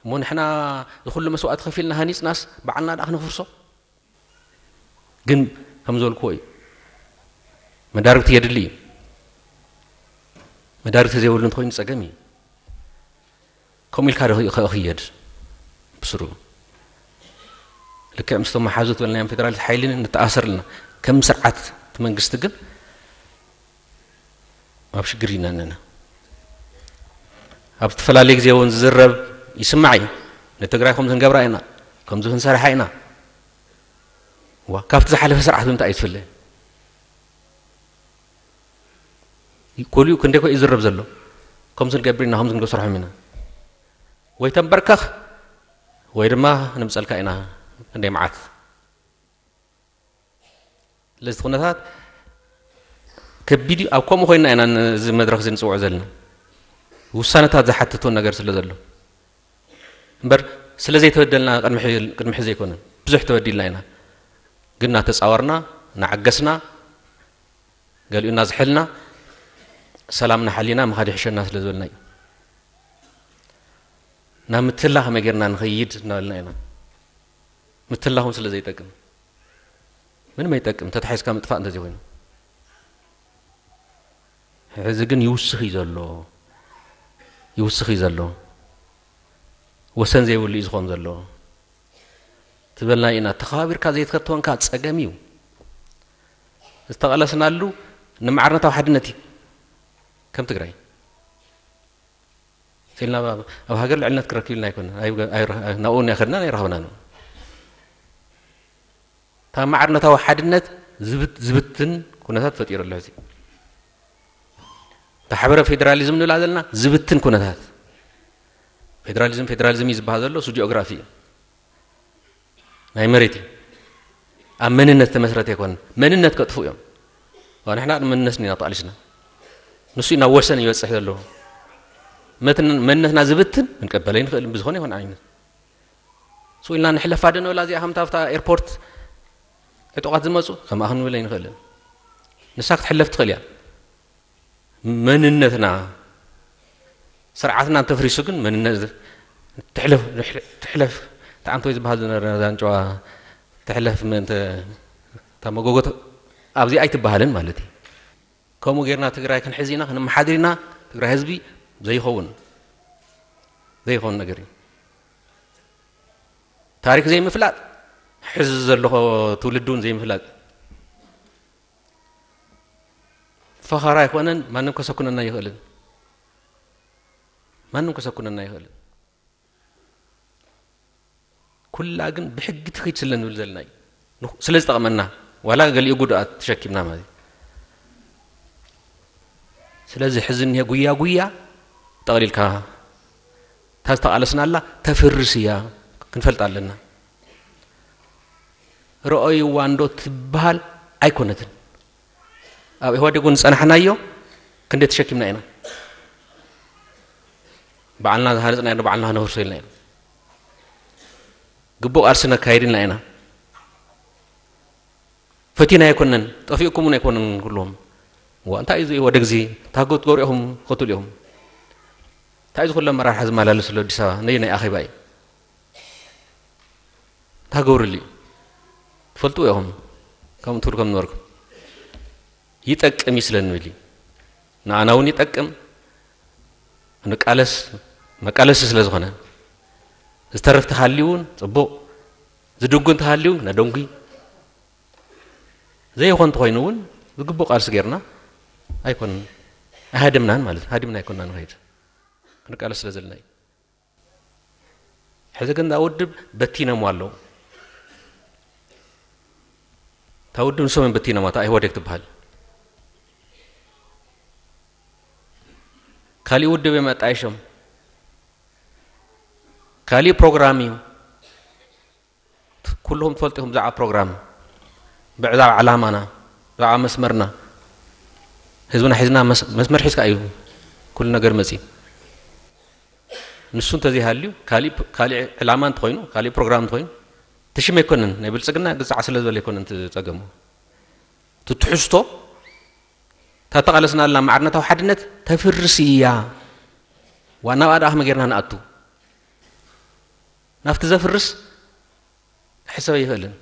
እሞ ንሕና ዝኩሉ መስዋእቲ ከፊልና ሃኒፅናስ በዓልና ደኣ ክነፍርሶ? ግን ከም ዝበልክዎ እዩ፣ መዳርግቲ የድሊ እዩ። መዳርግቲ ዘይብሉ እንተኮይኑ ፀገም እዩ። ከምኡ ኢልካ ዶ ክኸ- ክየድ ብስሩ ልክዕ ምስቶም መሓዙት በልናዮም ፌደራሊስት ሓይሊ ንተኣሰር ኣለና። ከም ስርዓት እቲ መንግስቲ ግን ኣብ ሽግር ኢና ኣለና። ኣብ ዝተፈላለየ ግዜ እውን ዝዝረብ ይስማዕ እዩ። ንትግራይ ከምዚ ክንገብራ ኢና፣ ከምዚ ክንሰርሓ ኢና። ዋ ካብቲ ዝሓለፈ ስርዓት ብምንታይ እዩ ትፍለ? ኮሊኡ ክንደይ ኮ ይዝረብ ዘሎ? ከምዚ ንገብር ኢና፣ ከምዚ ንገሰርሖም ኢና። ወይ ተንበርከኽ ወይ ድማ ንምፀልካ ኢና። ክንደይ መዓት ስለዚ ኩነታት ከቢድ እዩ። ኣብ ከምኡ ኮይና ኢና ነዚ መድረክ እዚ ንፅውዖ ዘለና። ውሳነታት ዝሓትት እውን ነገር ስለ ዘሎ እምበር ስለ ዘይተበደልና ቅድሚ ሕዚ- ቅድሚ ሕዚ ኣይኮነን። ብዙሕ ተበዲልና ኢና። ግን እናተፃወርና እናዓገስና ገሊኡ እናዝሐልና ሰላምና ሓሊና ምኻድ ይሕሸና ስለ ዝበልና እዩ። ናብ ምትላ ከመይ ጌርና ንኸይድ እናበልና ኢና። ምትላ እውን ስለ ዘይጠቅም ምንም ኣይጠቅም ተታሒዝካ ምጥፋእ እንተዘይኮይኑ። ሕዚ ግን ይውስኽ እዩ ዘሎ ይውስኽ እዩ ዘሎ ወሰን ዘይብሉ እዩ ዝኾን ዘሎ ትበልና ኢና። ተኸባቢርካ ዘይትከተወንካ ፀገም እዩ። ዝተቐለስናሉ ንማዕርነታዊ ሓድነት እዩ። ከም ትግራይ ስልና ኣብ ሃገር ልዕልነት ክረክብ ኢልና ኣይኮነ ናብኡ እናኸድና ኣይረኸብና ነው። እታ ማዕርነታዊ ሓድነት ዝብትን ኩነታት ፈጢሩ ኣሎ። እዚ እታ ሓበረ ፌዴራሊዝም ንብላ ዘለና ዝብትን ኩነታት ፌዴራሊዝም ፌዴራሊዝም እዩ ዝበሃል ዘሎ እሱ ጂኦግራፊ እዩ። ናይ መሬት እዩ። ኣብ መንነት ተመስረተ ኣይኮነን። መንነት ከጥፉ እዮም። ንሕና መንነት ኢና ተቃሊስና ንሱ ናብ ወሰን ይበፅሕ ዘለዎ። መንነትና ዝብትን ክንቀበለ ይንኽእል ብዝኾነ ይኾን ዓይነት ስኢልና ንሕለፋ ዶ ንበላ እዚኣ ከምታ ኣብታ ኤርፖርት ዕጡቓት ዝመፁ ከምኣ ክንብል ኣይንኽእልን። ንሳ ክትሕለፍ ትኽእል እያ። መንነትና ስርዓትና እንተፍሪሱ ግን መንነት ትሕለፍ ትሕለፍ ተዓንቶ ዝበሃል ዝነበረ ነዛ ንጨዋ ትሕለፍ ምእንተ እታ መጎጎት ኣብዚ ኣይትበሃልን ማለት እዩ። ከምኡ ጌርና ትግራይ ክንሕዝ ኢና ክንመሓድር ኢና ትግራይ ህዝቢ ዘይኸውን ዘይኸውን ነገር እዩ። ታሪክ ዘይምፍላጥ ሕዚ ዘለኹ ትውልዲ እውን ዘይምፍላጥ ፈኸራ ኣይኮነን። ማንም ከሰኩነና ይኽእልን ማንም ከሰኩነና ይኽእልን። ኩላ ግን ብሕጊ ትኽይድ ስለ ንብል ዘለና እዩ። ስለ ዝጠቕመና ዋላ ገሊኡ ጉድኣት ተሸኪምና ማለት እዩ። ስለዚ ሕዚ እኒሀ ጉያ ጉያ ጠቕሊልካ እታ ዝተቓለስናላ ተፍርስ እያ ክንፈልጥ ኣለና። ረኦይዋ እንዶ ትበሃል ኣይኮነትን። ኣብ ኢህዋዴግ እውን ዝፀናሕናዮ ክንደይ ተሸኪምና ኢና። ባዕልና ዝሃነፅና ኢና፣ ባዕልና ክነፍርሶ ኢልና ኢና። ግቡእ ቃልሲ ነካይድ ኢልና ኢና። ፈቲና ኣይኮነን፣ ጠፊእኩም እውን ኣይኮነን ኩሎም። ዋ፣ እንታይ እዩ እዚ ወደ ግዜ ታጎት ገሩ ኢኹም ክትብሉ ኢኹም። እንታይ እዩ ዝኩሎ ኣመራርሓ ዝመላለስ ዘሎ ኣዲስ ኣበባ? ነይ ናይ ኣኼባ እዩ። እንታይ ገብርሉ እዩ? ትፈልጡ ኢኹም። ከምኡ ትብሉ ከም ነበርኩም። ይጠቅም እዩ ስለ እንብል እዩ። ንኣና እውን ይጠቅም። ንቃለስ፣ መቃለሲ ስለ ዝኾነ። ዝተርፍ ተሃልዩ እውን ጽቡቕ። ዝድጉ እንተሃልዩ እውን ነደንጉ። ዘይኾን እንተኾይኑ እውን ዝግቡእ ቃልሲ ጌርና ኣይኮን-፣ ኣይሃደምናን ማለት እዩ። ሃዲምና ኣይኮንና ንኸይድ። ክንቃለስ ስለ ዘለና እዩ። ሕዚ ግን እዛ ውድብ በቲኖም ኣለዉ። እታ ውድብ ንሶም እዮም በቲኖማ፣ እታ ኢህወዴግ ትበሃል። ካሊእ ውድብ እዮም ኣጣይሾም። ካሊእ ፕሮግራም እዩ። ኩልኹም ትፈልጡ ኢኹም ብዛዕባ ፕሮግራም፣ ብዛዕባ ዕላማና፣ ብዛዕባ መስመርና። ህዝብና ሒዝና መስ-፣ መስመር ሒዝካ እዩ ኩሉ ነገር መፂእ። ንሱ እንተዘይሃልዩ፣ ካሊእ ፕ-፣ ካሊእ ዕላማ እንተኾይኑ፣ ካሊእ ፕሮግራም እንተኾይኑ፣ እቲ ሽም ኣይኮነን፣ ናይ ብልፅግና ግዛዕ ስለ ዝበለ ኣይኮነን እቲ ፀገሙ። እቲ ትሕዝቶ፣ እታ ተቓለስናላ ማዕርነታዊ ሓድነት ተፍርስ እያ። ዋና ኣብኣ ደኣ ከመይ ጌርና ንኣቱ? ናብቲ ዘፍርስ ክሕሰብ ኣይኽእልን።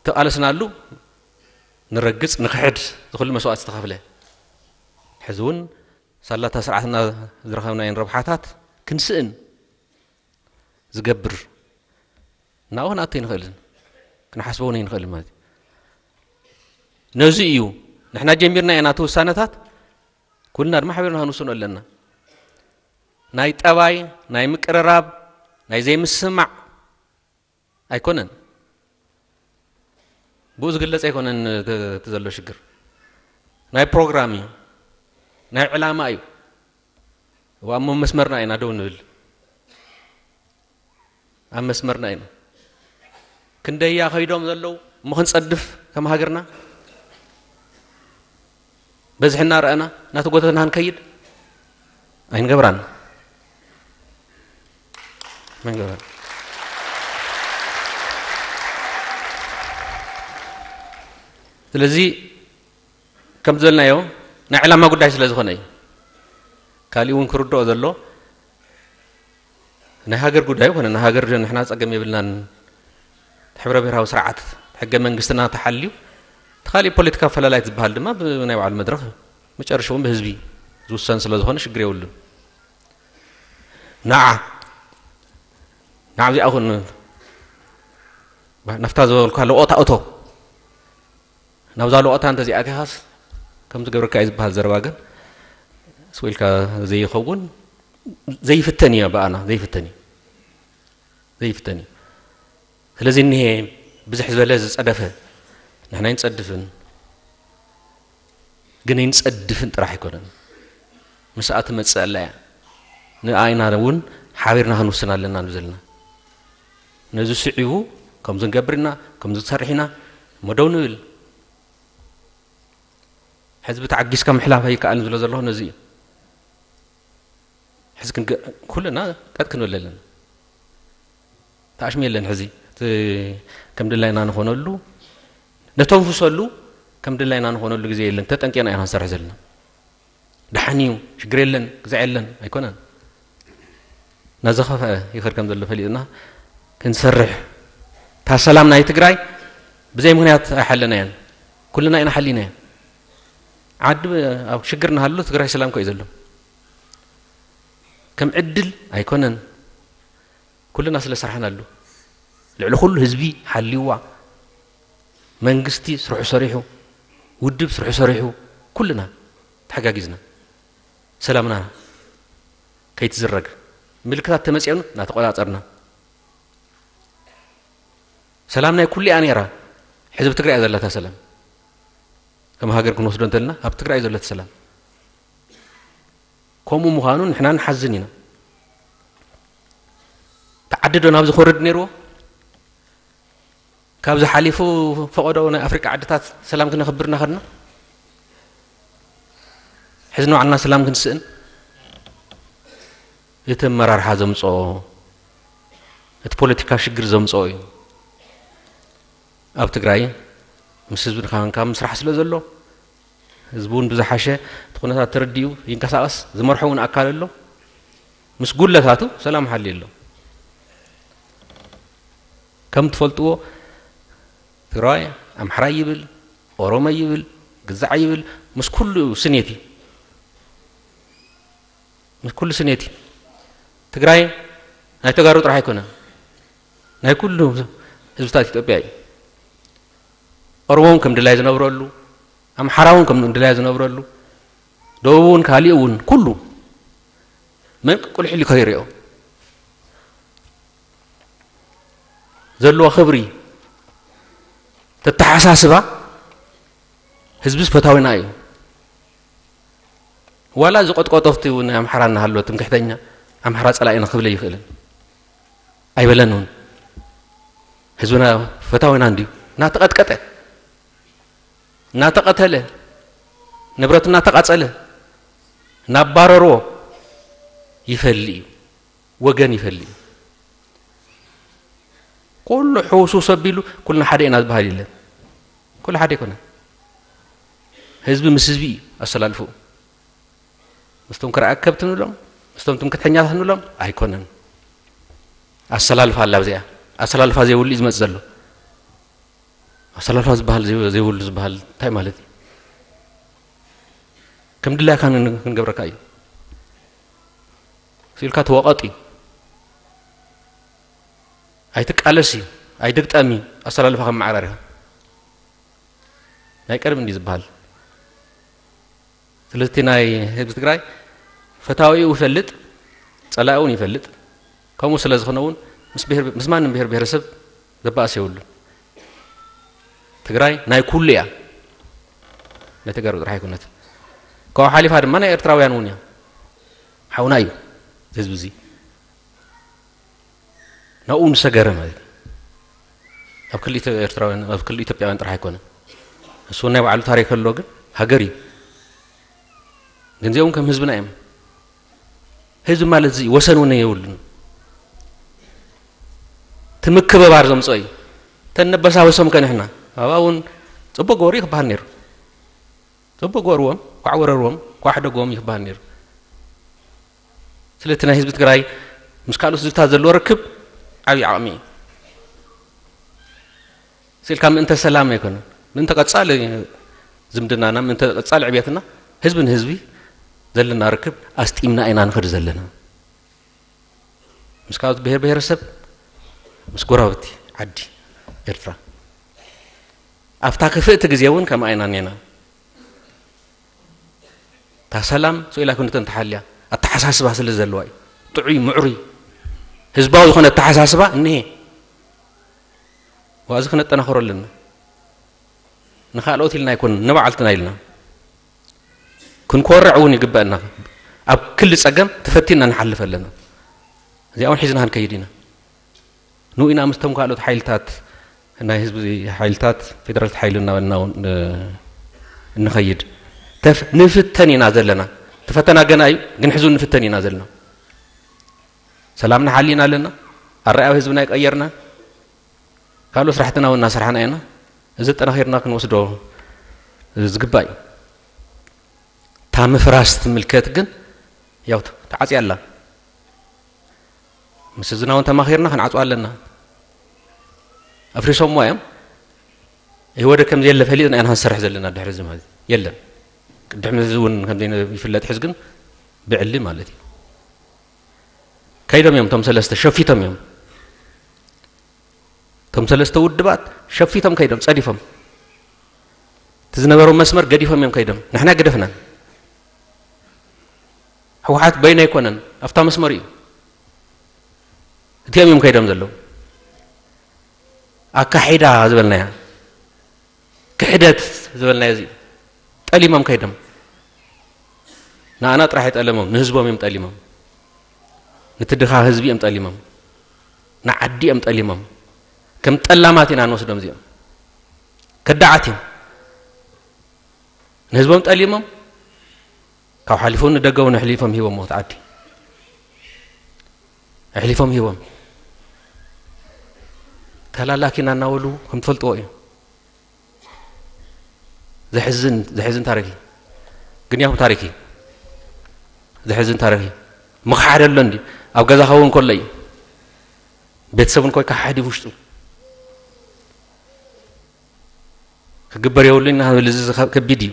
ተቓለስናሉ ንረግጽ፣ ንኽሕድ፣ ዝኹሉ መስዋእቲ ዝተኸፍለ። ሕዚ እውን ሳላታ ስርዓትና ዝረኸብናየን ረብሓታት ክንስእን ዝገብር፣ ናብኡ ክንኣቱ ኣይንኽእልን፣ ክንሓስቦ እውን ኣይንኽእልን ማለት እዩ። ነዚ እዩ ንሕና ጀሚርና ኢና እቲ ውሳነታት፣ ኩልና ድማ ሓቢርና ክንውስኖ ኣለና። ናይ ጠባይ፣ ናይ ምቅርራብ፣ ናይ ዘይምስማዕ ኣይኮነን። ብኡ ዝግለጽ ኣይኮነን እቲ፣ እቲ ዘሎ ሽግር። ናይ ፕሮግራም እዩ። ናይ ዕላማ እዩ። እዋ እሞ መስመርና ኢና ደው ንብል። ኣብ መስመርና ኢና። ክንደያ ከይዶም ዘለዉ እሞ ክንጸድፍ ከም ሃገርና በዝሒ እናረኣና እናተጎተትና ክንከይድ ኣይንገብራን። ኣይንገብራን። ስለዚ ከም ዝበልናዮ ናይ ዕላማ ጉዳይ ስለ ዝኾነ እዩ። ካሊእ እውን ክርድኦ ዘሎ ናይ ሃገር ጉዳይ ኮነ ናይ ሃገር ንሕና ጸገም የብልናን። ሕብረ ብሔራዊ ስርዓት ሕገ መንግስትና ተሓልዩ፣ እቲ ካሊእ ፖለቲካ ኣፈላላይት ዝበሃል ድማ ብናይ ባዕሉ መድረኽ መጨረሽኡ እውን ብህዝቢ ዝውሰን ስለ ዝኾነ ሽግር የብሉን። ንዓ፣ ንዓ እዚኣ ኹን ናፍታ ዝበልኳ ለቆታ እቶ። ናብዛ ለቆታ እንተዚኣቲኻስ ከምዚ ገብርካ እዩ ዝበሃል ዘረባ ግን ስዊልካ ዘይኸውን ዘይፍተን እዩ። ብኣና ዘይፍተን እዩ። ዘይፍተን እዩ። ስለዚ እኒሄ ብዝሕ ዝበለ ዝጸደፈ ንሕና ኣይንጸድፍን፣ ግን ኣይንጸድፍን ጥራሕ ኣይኮነን። ምስኣ ትመጽእ ኣላ እያ። ንኣይና እውን ሓቢርና ክንውስን ኣለና ንብል ዘለና። ነዚ ስዒቡ ከምዚ ንገብር ኢና፣ ከምዚ ንሰርሕ ኢና እሞ ደው ንብል። ሕዝቢ ተዓጊስካ ምሕላፍ ኣይከኣልን ዝብሎ ዘለኹ ነዚ እዩ። ሕዚ ክንገ-፣ ኩልና ቀጥ ክንብል ኣለና። ተኣሽሚ የለን። ሕዚ እቲ ከም ድላይና ንኾነሉ፣ ነተንፍሰሉ ከም ድላይና ንኾነሉ ግዜ የለን። ተጠንቂቕና ኢና ንሰርሕ ዘለና። ደሓን እዩ፣ ሽግር የለን፣ ግዛዕ የለን ኣይኮነን። ናዝኸፍአ ይኸድ ከም ዘሎ ፈሊጥና ክንሰርሕ፣ እታ ሰላም ናይ ትግራይ ብዘይ ምኽንያት ኣይሓለናያን። ኩልና ኢና ሓሊናያ። ዓዲ ኣብ ሽግር እናሃሉ ትግራይ ሰላም ኮ እዩ ዘሎ። ከም ዕድል ኣይኮነን። ኩልና ስለ ሰራሕናሉ፣ ልዕሊ ኩሉ ህዝቢ ሓልይዋ፣ መንግስቲ ስርሑ ሰሪሑ፣ ውድብ ስርሑ ሰሪሑ፣ ኩልና ተሓጋጊዝና ሰላምና ከይትዝረግ ምልክታት ተመፅኦን እናተቆፃፀርና፣ ሰላም ናይ ኩሉ እያ ነይራ። ሕዚ ኣብ ትግራይ እያ ዘላታ ሰላም። ከም ሃገር ክንወስዶ እንተልና ኣብ ትግራይ ዘለቲ ሰላም ከምኡ ምዃኑ ንሕና ንሓዝን ኢና። ተዓዲ ዶ ናብዚ ክወርድ ነይርዎ? ካብዚ ሓሊፉ ፈቐዶ ናይ ኣፍሪቃ ዓድታት ሰላም ክነኽብር እናኸድና፣ ሕዚ ንባዕልና ሰላም ክንስእን እቲ ኣመራርሓ ዘምፅኦ፣ እቲ ፖለቲካ ሽግር ዘምፅኦ እዩ። ኣብ ትግራይ ምስ ህዝቢ ንካንካ ምስራሕ ስለ ዘሎ፣ ህዝቢ እውን ብዝሓሸ እቲ ኩነታት ተረዲኡ ይንቀሳቐስ፣ ዝመርሖ እውን ኣካል ኣሎ። ምስ ጉለታቱ ሰላም ሓልዩ ኣሎ። ከም ትፈልጥዎ ትግራዋይ ኣምሓራይ ይብል፣ ኦሮሞ ይብል፣ ግዛዕ ይብል፣ ምስ ኩሉ ስኔት እዩ። ምስ ኩሉ ስኔት እዩ። ትግራይ ናይ ተጋሩ ጥራሕ ኣይኮነን፣ ናይ ኩሉ ህዝብታት ኢትዮጵያ እዩ። ኦሮሞ እውን ከም ድላይ ዝነብረሉ፣ ኣምሓራ እውን ከም ድላይ ዝነብረሉ፣ ደቡብ እውን ካሊእ እውን ኩሉ መንቀቁልሕሊ ከይሪኦ ዘለዎ ክብሪ ተተሓሳስባ ህዝብስ ፈታዊና እዩ። ዋላ ዝቆጥቀጦ ፍቲ እውን ኣምሓራ እናሃለወ ትምክሕተኛ ኣምሓራ ጸላኢና ክብል ኣይኽእልን ኣይበለን እውን። ህዝብና ፈታዊና እንድዩ እናተቐጥቀጠ እናተቐተለ ንብረት እናተቓጸለ እናባረርዎ ይፈሊ እዩ። ወገን ይፈሊ እዩ። ኩሉ ሕውስውስ ኣቢሉ ኩልና ሓደ ኢና ዝበሃል የለን። ኩሉ ሓደ ኣይኮነን። ህዝቢ ምስ ህዝቢ እዩ ኣሰላልፍኡ። ምስቶም ክርኣከብቲ ንብሎም ምስቶም ትምክሕተኛታት ንብሎም ኣይኮነን። ኣሰላልፋ ኣላ ኣብዚኣ። ኣሰላልፋ ዘይብሉ እዩ ዝመጽእ ዘሎ። ኣሰላልፋ ዝበሃል ዘይብሉ ዝበሃል እንታይ ማለት እዩ? ከም ድላይካ ክንገብረካ እዩ። ስኢልካ ተወቐጥ እዩ። ኣይትቃለስ እዩ። ኣይትግጠም እዩ። ኣሰላልፋ ከም መዓራርያ ናይ ቀደም እንዲ ዝበሃል። ስለዚ ናይ ህዝቢ ትግራይ ፈታዊኡ ይፈልጥ፣ ጸላኢ እውን ይፈልጥ። ከምኡ ስለ ዝኾነ እውን ምስ ብሄር ምስ ማንም ብሄር ብሄረሰብ ዘባእስ የብሉን። ትግራይ ናይ ኩሉ እያ። ናይ ተጋሩ ጥራሕ ኣይኮነትን። ካብኡ ሓሊፋ ድማ ናይ ኤርትራውያን እውን እያ። ሓውና እዩ ህዝቢ እዚ። ናብኡ ንሰገረ ማለት እዩ። ኣብ ክልተ ኤርትራውያን ኣብ ክልተ ኢትዮጵያውያን ጥራሕ ኣይኮነን። እሱ ናይ ባዕሉ ታሪክ ኣሎ፣ ግን ሃገር እዩ። ግን እዚኦም ከም ህዝብና እዮም። ህዝቢ ማለት እዚ ወሰን እውን የብሉን። እቲ ምክብባር ዘምፅኦ እዩ። ተነበሳበሶም ከንሕና ኣብኣ እውን ፅቡቅ ገበሩ ክበሃል ነይሩ። ፅቡቅ ገበርዎም፣ ኳዕ ወረርዎም፣ ኳሕ ደጎም ይክበሃል ነይሩ። ስለቲ ናይ ህዝቢ ትግራይ ምስ ካልኦት ህዝብታት ዘለዎ ርክብ ዓብዪ ዓቕሚ እዩ። ስኢልካ ምእንተ ሰላም ኣይኮነን፣ ምእንተ ቀፃሊ ዝምድናና፣ ምእንተ ቀፃሊ ዕብየትና፣ ህዝቢ ንህዝቢ ዘለና ርክብ ኣስጢምና ኢና ንኸድ ዘለና። ምስ ካልኦት ብሄር ብሄረሰብ፣ ምስ ጎረባብቲ ዓዲ ኤርትራ። ኣብታ ክፍእቲ ግዜ እውን ከምኣ ኢና እኔና። እታ ሰላም ስኢላ ክንተን ተሓልያ ኣተሓሳስባ ስለ ዘለዋ እዩ። ጥዑይ ምዕሩይ ህዝባዊ ዝኾነ ኣተሓሳስባ እኒሄ። ዋዚ ክነጠናኽሮ ኣለና። ንኻልኦት ኢልና ኣይኮን ንባዕልትና ኢልና። ክንኮርዕ እውን ይግበአና። ኣብ ክሊ ጸገም ተፈቲና ንሓልፍ ኣለና። እዚኣ እውን ሒዝና ክንከይድ ኢና። ንኡ ኢና ምስቶም ካልኦት ሓይልታት ናይ ህዝቢ ሓይልታት ፌደራልት ሓይሊ እናበልና እውን እ፣ እንኸይድ ተፍ- ንፍተን ኢና ዘለና። እቲ ፈተና ገና እዩ፣ ግን ሕዙ ንፍተን ኢና ዘለና። ሰላምና ሓሊና ኣለና። ኣረኣያ ህዝብና ይቀየርና። ካልኦት ስራሕትና እውን እናሰራሕና ኢና። እዚ ጠናኺርና ክንወስዶ ዝግባእ እዩ። እታ ምፍራስ ትምልከት ግን ያው ተዓፅያ ኣላ። ምስ ህዝብና እውን ተማኺርና ክንዓፅዋ ኣለና። ኣፍሪሶምዋ እዮም። ይወደ ከም ዘየለ ፈሊጥና ኢና ክንሰርሕ ዘለና ድሕሪ እዚ ማለት የለን። ቅድሕሚ እዚ እውን ከም ዘይነ- ይፍለጥ ሕዚ ግን ብዕሊ ማለት እዩ። ከይዶም እዮም እቶም ሰለስተ ሸፊቶም እዮም። እቶም ሰለስተ ውድባት ሸፊቶም ከይዶም ጸዲፎም። እቲ ዝነበሮም መስመር ገዲፎም እዮም ከይዶም። ንሕና ገደፍናን። ህወሓት በይኑ ኣይኮነን፣ ኣብታ መስመር እዩ። እቲኦም እዮም ከይዶም ዘለዉ። ኣካሒዳ ዝበልናያ፣ ክሕደት ዝበልናዮ እዚ እዩ። ጠሊሞም ከይዶም። ንኣና ጥራሕ ኣይጠለሞም፣ ንህዝቦም እዮም ጠሊሞም። ነቲ ድኻ ህዝቢ እዮም ጠሊሞም። ንዓዲ እዮም ጠሊሞም። ከም ጠላማት ኢና ንወስዶም እዚኦም። ከዳዓት እዮም። ንህዝቦም ጠሊሞም፣ ካብ ሓሊፉ ንደገ እውን ኣሕሊፎም ሂቦም ሞት ዓዲ ኣሕሊፎም ሂቦም ተላላኪና እናበሉ ከም ትፈልጥዎ እዩ። ዘሕዝን ዘሕዝን ታሪክ እዩ። ግን ያው ታሪክ እዩ። ዘሕዝን ታሪክ እዩ። ምኽሓድ ኣሎ እንዲ ኣብ ገዛ ኸውን ከሎ እዩ። ቤተሰብ እንኮይ ካሓዲ ውሽጡ ክግበር የብሉና። እዚ ከቢድ እዩ።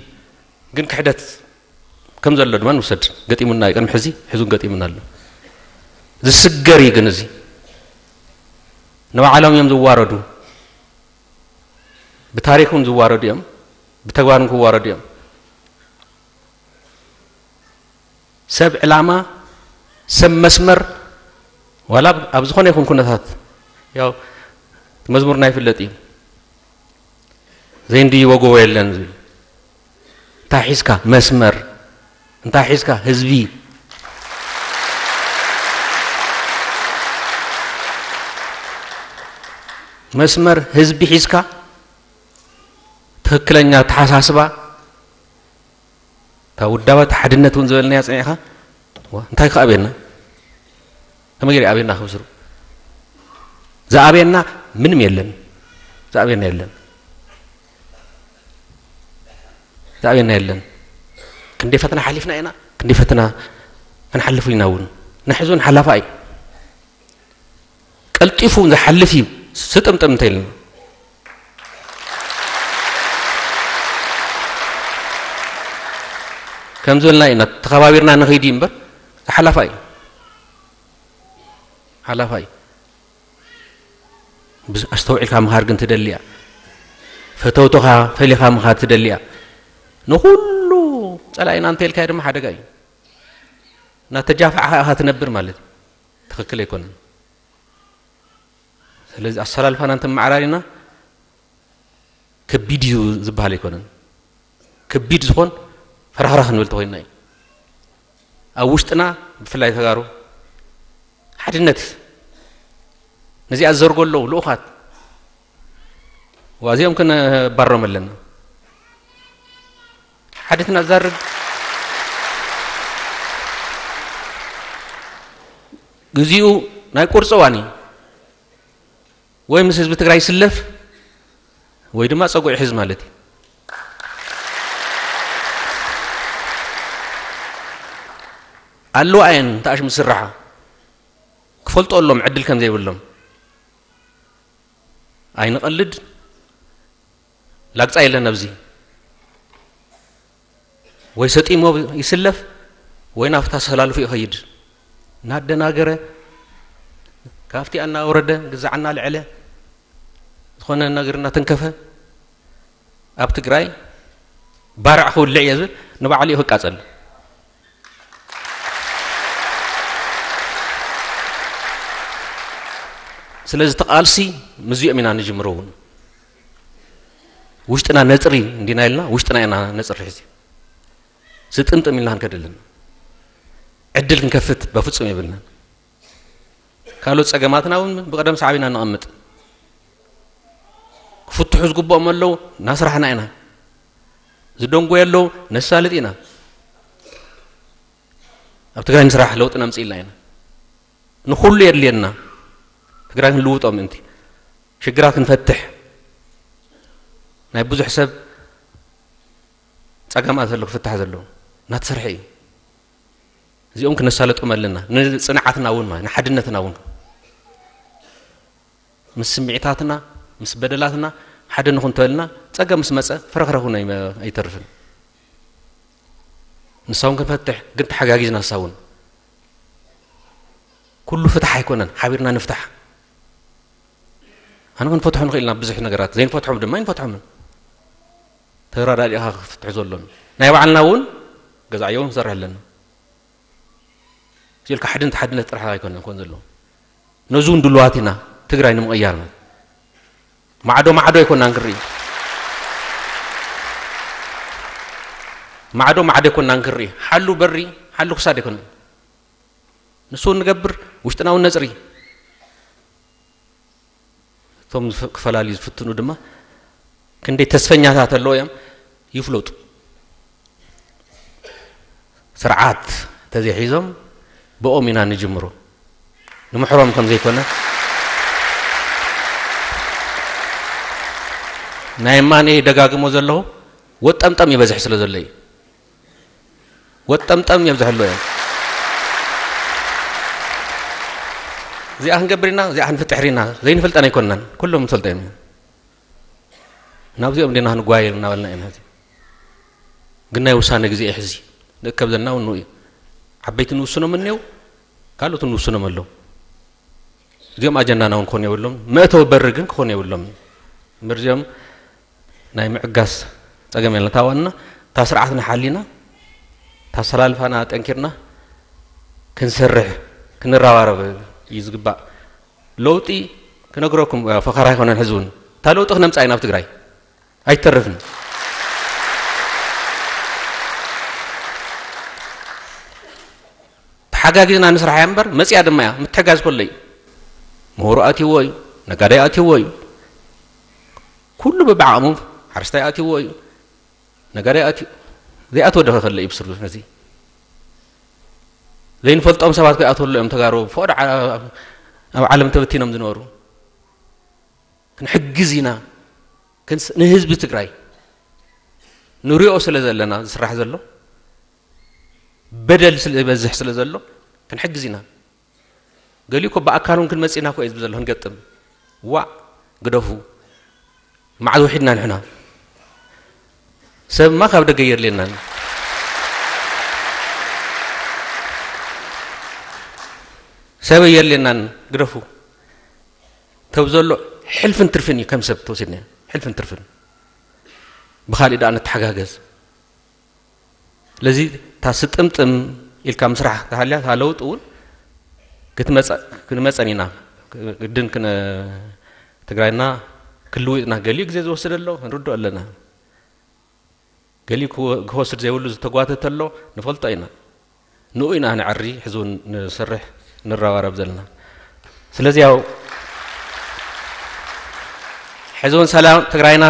ግን ክሕደት ከም ዘሎ ድማ ንውሰድ። ገጢሙና እዩ። ቅድሚ ሕዚ ሕዙን ገጢሙና ኣሎ። ዝስገር እዩ። ግን እዚ ንባዕሎም እዮም ዝዋረዱ። ብታሪክ እውን ዝዋረዱ እዮም። ብተግባር እውን ክዋረዱ እዮም። ሰብ ዕላማ፣ ሰብ መስመር፣ ዋላ ኣብ ዝኾነ ይኹን ኩነታት፣ ያው መዝሙርና ይፍለጥ እዩ። ዘይንድይቦ ጎቦ የለን ዝብል። እንታይ ሒዝካ? መስመር። እንታይ ሒዝካ? ህዝቢ። መስመር ህዝቢ ሒዝካ፣ ትኽክለኛ ኣተሓሳስባ፣ እታ ውዳባት ሓድነት እውን ዝበልናያ ጸኒዕኻ፣ ዋ፣ እንታይ ክኣብየና? ከመይ ገይሩ ኣብየና ክብስሩ? ዝኣብየና ምንም የለን። ዝኣብየና የለን። ዝኣብየና የለን። ክንደይ ፈተና ሓሊፍና ኢና፣ ክንደይ ፈተና ክንሓልፍ ኢና እውን። ንሕዚ እውን ሓላፋ እዩ። ቀልጢፉ ዝሓልፍ እዩ። ስጥምጥም እንተ ኢልና ከም ዝበልና ኢና ተኸባቢርና ንኸይድ እዩ እምበር፣ ሓላፋ እዩ። ሓላፋ እዩ። ብዝ-፣ ኣስተውዒልካ ምኻድ ግን ትደሊ እያ። ፈተውትኻ ፈሊኻ ምኻድ ትደሊ እያ። ንኹሉ ጸላኢና እንተ ኢልካዮ ድማ ሓደጋ እዩ። እናተጃፋዕኻ ኢኻ ትነብር ማለት እዩ። ትኽክል ኣይኮነን። ስለዚ ኣሰላልፋና እንተመዓራሪና ከቢድ እዩ ዝበሃል ኣይኮነን። ከቢድ ዝኾን ፈራኽራኽ ንብል ተኾይንና እዩ። ኣብ ውሽጥና ብፍላይ ተጋሩ ሓድነት ነዚኣ ዝዘርጎ ኣለዉ ልኡኻት ዋዚኦም ክነባሮም ኣለና። ሓድትና ዝዛርግ ግዚኡ ናይ ቁርፂ እዋን እዩ። ወይ ምስ ህዝቢ ትግራይ ይስለፍ ወይ ድማ ፀጉዒ ሕዝ ማለት እዩ። ኣለዋ እየን ተኣሽሙ ዝስራሓ ክፈልጦ ኣሎም ዕድል ከም ዘይብሎም። ኣይንቐልድ። ላግፃ የለን ኣብዚ። ወይ ሰጢሞ ይስለፍ ወይ ናብታ ሰላልፉ ይኸይድ። እናደናገረ ካብቲ እናወረደ ግዛዕ እናልዐለ ዝኾነ ነገር እናተንከፈ ኣብ ትግራይ ባርዕ ክውልዕ እየ ዝብል ንባዕሉ እዩ ክቃፀል። ስለዚ ተቓልሲ ምስዚኦም ኢና ንጅምሮ እውን ውሽጥና ነፅሪ እንዲና ኢልና ውሽጥና ኢና ነፅሪ ሕዚ ስጥምጥም ኢልና ክንከድ ኣለና። ዕድል ክንከፍት በፍፁም የብልናን። ካልኦት ፀገማትና እውን ብቐደም ሰዓብ ኢና ነቐምጥ። ክፍትሑ ዝግብኦም ኣለዉ እናስራሕና ኢና። ዝደንጎዩ ኣለዉ ነሳልጥ ኢና። ኣብ ትግራይ ንስራሕ ለውጢ ነምፅእ ኢልና ኢና። ንኹሉ የድልየና ትግራይ ክንልውጦ ምእንቲ ሽግራት ክንፈትሕ ናይ ብዙሕ ሰብ ፀገማት ዘሎ ክፍታሕ ዘለዎ እናተሰርሐ እዩ። እዚኦም ክነሳለጦም ኣለና። ንፅንዓትና እውን ማለት ንሓድነትና እውን ምስ ስምዒታትና ምስ በደላትና ሓደ ንኹን ተበልና ፀገም ምስ መፀ ፍረኽረኽ እውን ኣይመ-፣ ኣይተርፍን። ንሳ እውን ክንፈትሕ ግን ተሓጋጊዝና ንሳ እውን ኩሉ ፍትሕ ኣይኮነን ሓቢርና ንፍታሕ። ኣነ ክንፈትሖ ንኽእል ኢና ብዙሕ ነገራት ዘይንፈትሖም ድማ ኣይንፈትሖምን። ተረዳዲእኻ ክፍትሑ ዘሎን ናይ ባዕልና እውን ገዛዕዮ እውን ክሰርሕ ኣለና። ኢልካ ሓድነት ሓድነት ጥራሕ ኣይኮነን ኮን ዘለዎ ነዚ እውን ድልዋት ኢና ትግራይ ንምቕያር ማለት ማዕዶ ማዕዶ ኣይኮናን ክርኢ ማዕዶ ማዕዶ ኣይኮናን ክርኢ ሓሉ በሪ ሓሉ ክሳድ ኣይኮነን ንሱ እውን ንገብር ውሽጥና እውን ነፅሪ እቶም ዝፍ- ክፈላልዩ ዝፍትኑ ድማ ክንደይ ተስፈኛታት ኣለዉ እዮም ይፍለጡ ስርዓት ተዘይሒዞም ብኦም ኢና ንጅምሮ። ንምሕሮም ከም ዘይኮነ ናይ ማኔ ደጋግሞ ዘለኹ ወጠምጠም ይበዝሕ ስለ ዘሎ እዩ። ወጠምጠም የብዝሐሎ እዮም። እዚኣ ክንገብር ኢና፣ እዚኣ ክንፍጥሕር ኢና ዘይንፈልጠን ኣይኮንናን። ኩሎም ንፈልጦ እዮም። ናብዚኦም ዲና ክንጓየል እናበልና ኢና። ሕዚ ግን ናይ ውሳነ ግዜ እዩ። ሕዚ ንእከብ ዘለና እውን ንኡ እዩ። ዓበይቲ ንውስኖም እኒው፣ ካልኦት ንውስኖም ኣለዉ። እዚኦም ኣጀንዳና እውን ክኾኑ የብሎም። መእተዊ በሪ ግን ክኾኑ የብሎም። እምበር እዚኦም ናይ ምዕጋስ ጸገም የለን። እታ ዋና እታ ስርዓትና ሓሊና፣ እታ ኣሰላልፋና ጠንኪርና ክንሰርሕ፣ ክንረባረብ እዩ ዝግባእ። ለውጢ ክነግረኩም ፈኸራ ኣይኮነን። ሕዚ እውን እታ ለውጢ ክነምጻ ኢና ኣብ ትግራይ። ኣይተርፍን። ተሓጋጊዝና ንስራሕ እያ እምበር መጽያ ድማ እያ። ምትሕጋዝ ከሎ እዩ። ምሁሩ ኣትይዎ እዩ። ነጋዳይ ኣትይዎ እዩ። ኩሉ ብብዓቕሙ ሓረስታይ ኣትይዎ እዩ። ነጋዳይ ኣትዩ ዘይኣትዎ ዶ ከሎ እዩ ብስሩ። ነዚ ዘይንፈልጦም ሰባት ከይኣትወሉ እዮም ተጋሩ ፈቐዶ ዓ-፣ ኣብ ዓለም ተበቲኖም ዝነበሩ። ክንሕግዝ ኢና። ክንስ-፣ ንህዝቢ ትግራይ ንሪኦ ስለ ዘለና ዝስራሕ ዘሎ በደል ስለ ዝበዝሕ ስለ ዘሎ ክንሕግዝ ኢና። ገሊኡ እኮ ብኣካል እውን ክንመጽእ ኢና እኮ እዩ ዝብል ዘሎ። ክንገጥም ዋእ ግደፉ። መዓዝ ውሒድና ንሕና? ሰብማ ካብ ደገ የድልየናን። ሰብ የድልየናን። ግደፉ። ተብ ዘሎ ሕልፍን ትርፍን እዩ ከም ሰብ ተወሲድና። ሕልፍን ትርፍን። ብኻሊእ ደኣ ንተሓጋገዝ። ስለዚ እታ ስጥምጥም ኢልካ ምስራሕ ተሃልያ እታ ለውጢ እውን ክትመጸ-፣ ክንመጸን ኢና። ግድን ክነ-፣ ትግራይና ክልውጥና ገሊኡ ግዜ ዝወስድ ኣሎ፣ ክንርድኦ ኣለና። ገሊኡ ክወ-፣ ክወስድ ዘይብሉ ዝተጓተተ ኣሎ፣ ንፈልጦ ኢና። ንኡ ኢና ንዕሪ፣ ሕዚ እውን ንሰርሕ፣ ንረባረብ ዘለና። ስለዚ ያው ሕዚ እውን ሰላም፣ ትግራይና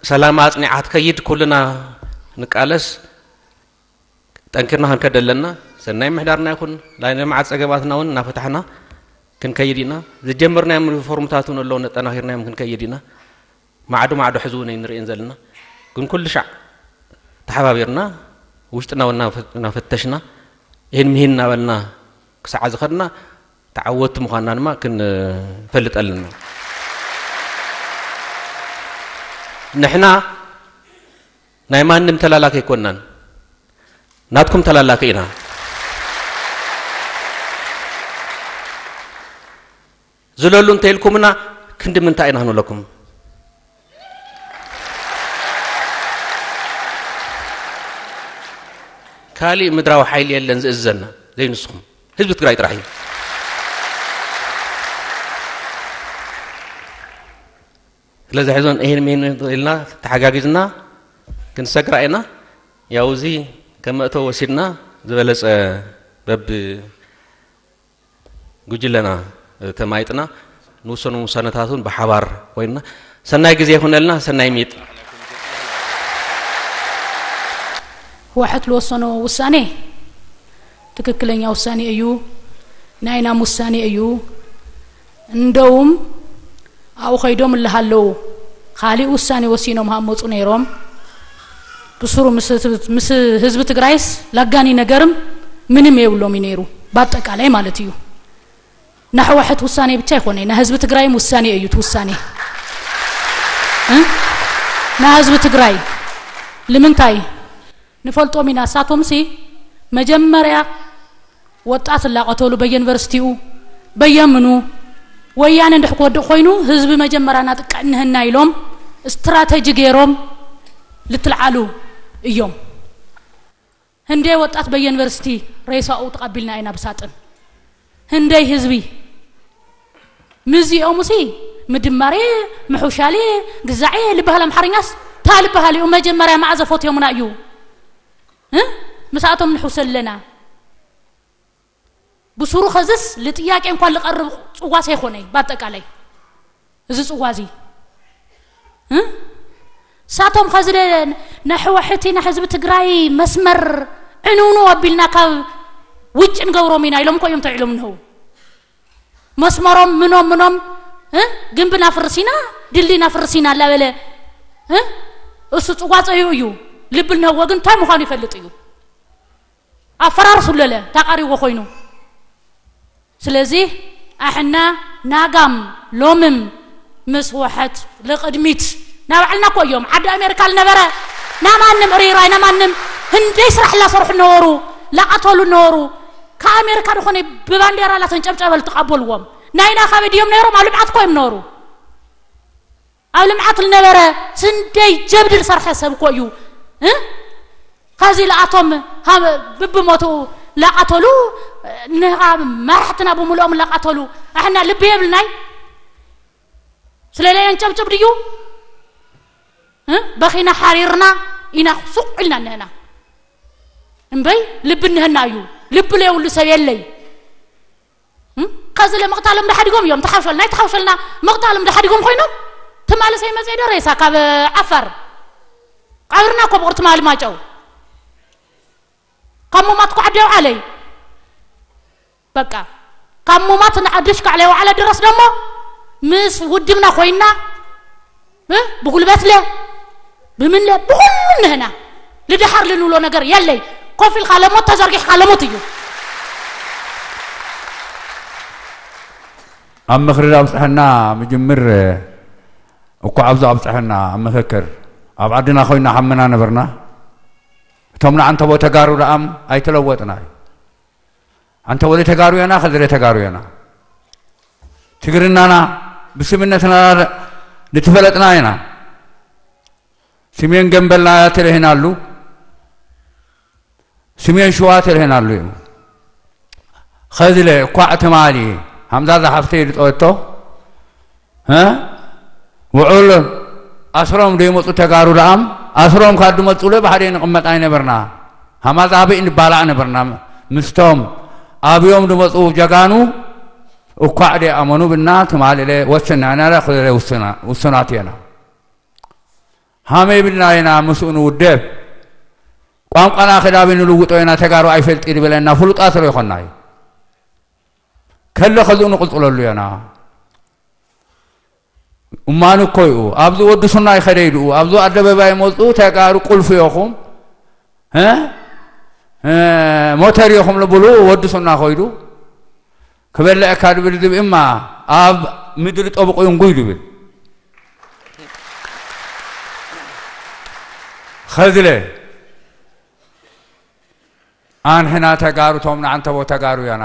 ሰላም ኣጽኒዓ ትከይድ፣ ኩልና ንቃለስ፣ ጠንኪርና ክንከድ ኣለና። ሰናይ ምሕዳርና ይኹን፣ ናይ ልምዓት ጸገማትና እውን እናፈታሕና ክንከይድ ኢና። ዝጀመርናዮም ሪፎርምታት እውን ኣለዉ፣ ነጠናኺርናዮም ክንከይድ ኢና። ማዕዶ ማዕዶ ሕዚ እውን ኣይንርእን ዘለና። ግን ኩሉ ሻዕ ተሓባቢርና፣ ውሽጥና እውን እናፈ-፣ እናፈተሽና፣ ይህን ምሂን እናበልና ክሳዕ ዝኸድና፣ ተዓወትቲ ምዃንና ድማ ክንፈልጥ ኣለና። ንሕና ናይ ማንም ተላላኪ ኣይኮንናን። ናትኩም ተላላኪ ኢና። ዝለሉ እንተ ኢልኩምና ክንዲ ምንታይ ኢና ክንብለኩም? ካሊእ ምድራዊ ሓይሊ የለን ዝእዝዘና ዘይንስኹም። ህዝቢ ትግራይ ጥራሕ እዩ። ስለዚ ሕዞን ይህን ሚህን ኢልና ተሓጋጊዝና ክንሰግራ ኢና። ያው እዚ ከም መእተዊ ወሲድና ዝበለጸ በብ ጉጅለና ተማይጥና ንውሰኑ ውሳነታቱን ብሓባር ኮይንና ሰናይ ግዜ ይኹነልና። ሰናይ ሚጥ። ህወሓት ልወሰኖ ውሳኔ ትክክለኛ ውሳኔ እዩ። ናይናም ውሳኔ እዩ። እንደውም ኣብኡ ከይዶም እልሃለዉ ካሊእ ውሳኔ ወሲኖም ሃመፁ ነይሮም። ብስሩ ምስ ህዝቢ ትግራይስ ላጋኒ ነገርም ምንም የብሎም እዩ ነይሩ። በአጠቃላይ ማለት እዩ። ናሕወሐት ውሳኔ ብቻ ይኮነ ናይ ህዝቢ ትግራይም ውሳኔ እዩ ትውሳኔ። ናይ ህዝቢ ትግራይ ልምንታይ ንፈልጦም ኢና። እሳቶም ሲ መጀመርያ ወጣት እላቐተሉ በየዩኒቨርሲቲኡ በየምኑ ወያነ እንድሕ ክወድቕ ኮይኑ ህዝቢ መጀመርያ ናጥቅዕ እንህና ኢሎም ስትራተጂ ገይሮም ልትልዓሉ እዮም። ህንደይ ወጣት በየዩኒቨርሲቲ ሬሳኡ ተቐቢልና ኢና ብሳጥን። ህንደይ ህዝቢ ምዚኦሙሲ ምድማሬ ምሑሻሌ ግዛዔ ልበሃል ኣምሓርኛስ ታ ልበሃል እዩ። መጀመርያ መዓዘ ፎትዮምና እዩ። ምስኣቶም ንሕውሰ ኣለና። ብሱሩ ኸዝስ ልጥያቄ እንኳን ልቐርብ ጽዋስ ኣይኮነይ። በአጠቃላይ እዚ ጽዋ እዚ ሳቶም ኸዚ ነሕወሕቲ ንሕዝቢ ትግራይ መስመር ዕንውንው ኣቢልና ካብ ውጭ ንገብሮም ኢና ኢሎም እኮ እዮም ተዒሎም እነው። መስመሮም ምኖም ምኖም፣ እ? ግንብና ፍርሲና፣ ድልድይና ፍርሲና እናበለ፣ እ? እሱ ጽዋጸዩ እዩ። ልብል ነህዎ ግን እንታይ ምዃኑ ይፈልጥ እዩ። ኣፈራርሱ ለለ ታቃሪዎ ኮይኑ። ስለዚህ ኣሕና ናጋም ሎምም ምስ ወሐት ልቅድሚት ናባዕልና እኮ እዮም። ዓዲ ኣሜሪካ ልነበረ ናማንም ሪራይ ናማንም ህንደይ ስራሕ ላሰርሑ ነበሩ፣ ላቀተሉ ነበሩ። ከኣሜሪካ ዝኾነ ብባንዴራ ላተንጨብጨበ ልትቀበልዎም ናይና ካበይ ድዮም ነይሮም? ኣብ ልምዓት እኮ እዮም ነበሩ። ኣብ ልምዓት ልነበረ ስንደይ ጀብዲ ልሰርሐ ሰብ እኮ እዩ። እ? ከዚ ለኣቶም ሃብ-፣ ብብሞቱ ላቃተሉ፣ ንኻ መራሕትና ብምልኦም ላቃተሉ። ኣሕና ልቢ የብልናይ? ስለለየን ጨብጭብ ድዩ? እ? በኺና ሓሪርና ኢና ሱቕ ኢልና እነህና። እምበይ ልቢ እነህና እዩ። ልቢ ለየብሉ ሰብ የለይ። እም? ከዚ ለምቕታሎም ዳሓዲጎም እዮም ተሓውሸልና፣ ኣይተሓውሸልና ምቕታሎም ዳሓዲጎም ኮይኖም ትማሊ ሰይመፀ ዶ ሬሳ ካብ ዓፋር? ቀብርና እኮ ብቑር ትማሊ ማጨው። ካብ ሙማት እኮ ዓዲ የውዓለይ። በቃ ካብ ሙማት ንዓዲ ሽካዕ ለይወዓለ ድረስ ደሞ ምስ ውድብና ኮይና እ? ብጉልበት ለ፣ ብምን ለ፣ ብኹሉ ንህና ልድሓር ልንብሎ ነገር የለይ። ኮፍ ኢልካ ለሞት ተዘርጊሕካ ለሞት እዩ። ኣብ ምኽሪ ኣብፅሐና ምጅምር እኳ ኣብዚ ኣብፅሐና ኣብ ምኽክር ኣብ ዓድና ኮይና ሓመና ነበርና። እቶም ንዓንተቦ ተጋሩ ደኣም ኣይተለወጥና እዩ። ኣንተ ወደ ተጋሩ የና፣ ከዝረ ተጋሩ የና። ትግርናና ብስምነትና ልትፈለጥና የና። ስሜን ገንበልና ተለህናሉ፣ ስሜን ሽዋ ተለህናሉ እዩ። ኸዝለ እኳዕ ትማሊ ሃምዛ ዝሓፍተይ ልጠወቶ፣ እ? ውዑል ኣስሮም ደይመፁ ተጋሩ ደኣም፣ ኣስሮም ካብ ድመፁ ለ ብሓደ ንቕመጥ ኣይነበርና። ሃማዛ ኣበይ ንባላዕ ነበርና። ምስቶም ኣብዮም ድመፁ ጀጋኑ እኳዕ ደይኣመኑ ብና ትማሊ ለ ወስና ኢና ለ ኸዝለ ውስና-፣ ውሱናት የና። ሃመይ ብልና ኢና ምስኡ ንውደብ። ቋንቋና ክዳቢ ንልውጦ ኢና፣ ተጋሩ ኣይፈልጥ ይድበለና፣ ፍሉጣት ዶ ይኾና እዩ። ከለ ኸዝኡ ንቕልጥለሉ የና። እማን እኮ እዩ። ኣብዚ ወዲ ሱና ይኸደ ኢሉ፣ ኣብዚ ኣደባባይ መፁ፣ ተጋሩ ቁልፊ ኢኹም፣ እ? እ፣ ሞተር ኢኹም ልብሉ፣ ወዲ ሱና ኸይዱ፣ ክበልዐካ ድብል ዝብኢ እማ ኣብ ምድሪ ጠብቑ ይንጉይ ድብል። ኸዝለ፣ ኣንሕና ተጋሩ፣ ቶም ንዓንተቦ ተጋሩ ያና።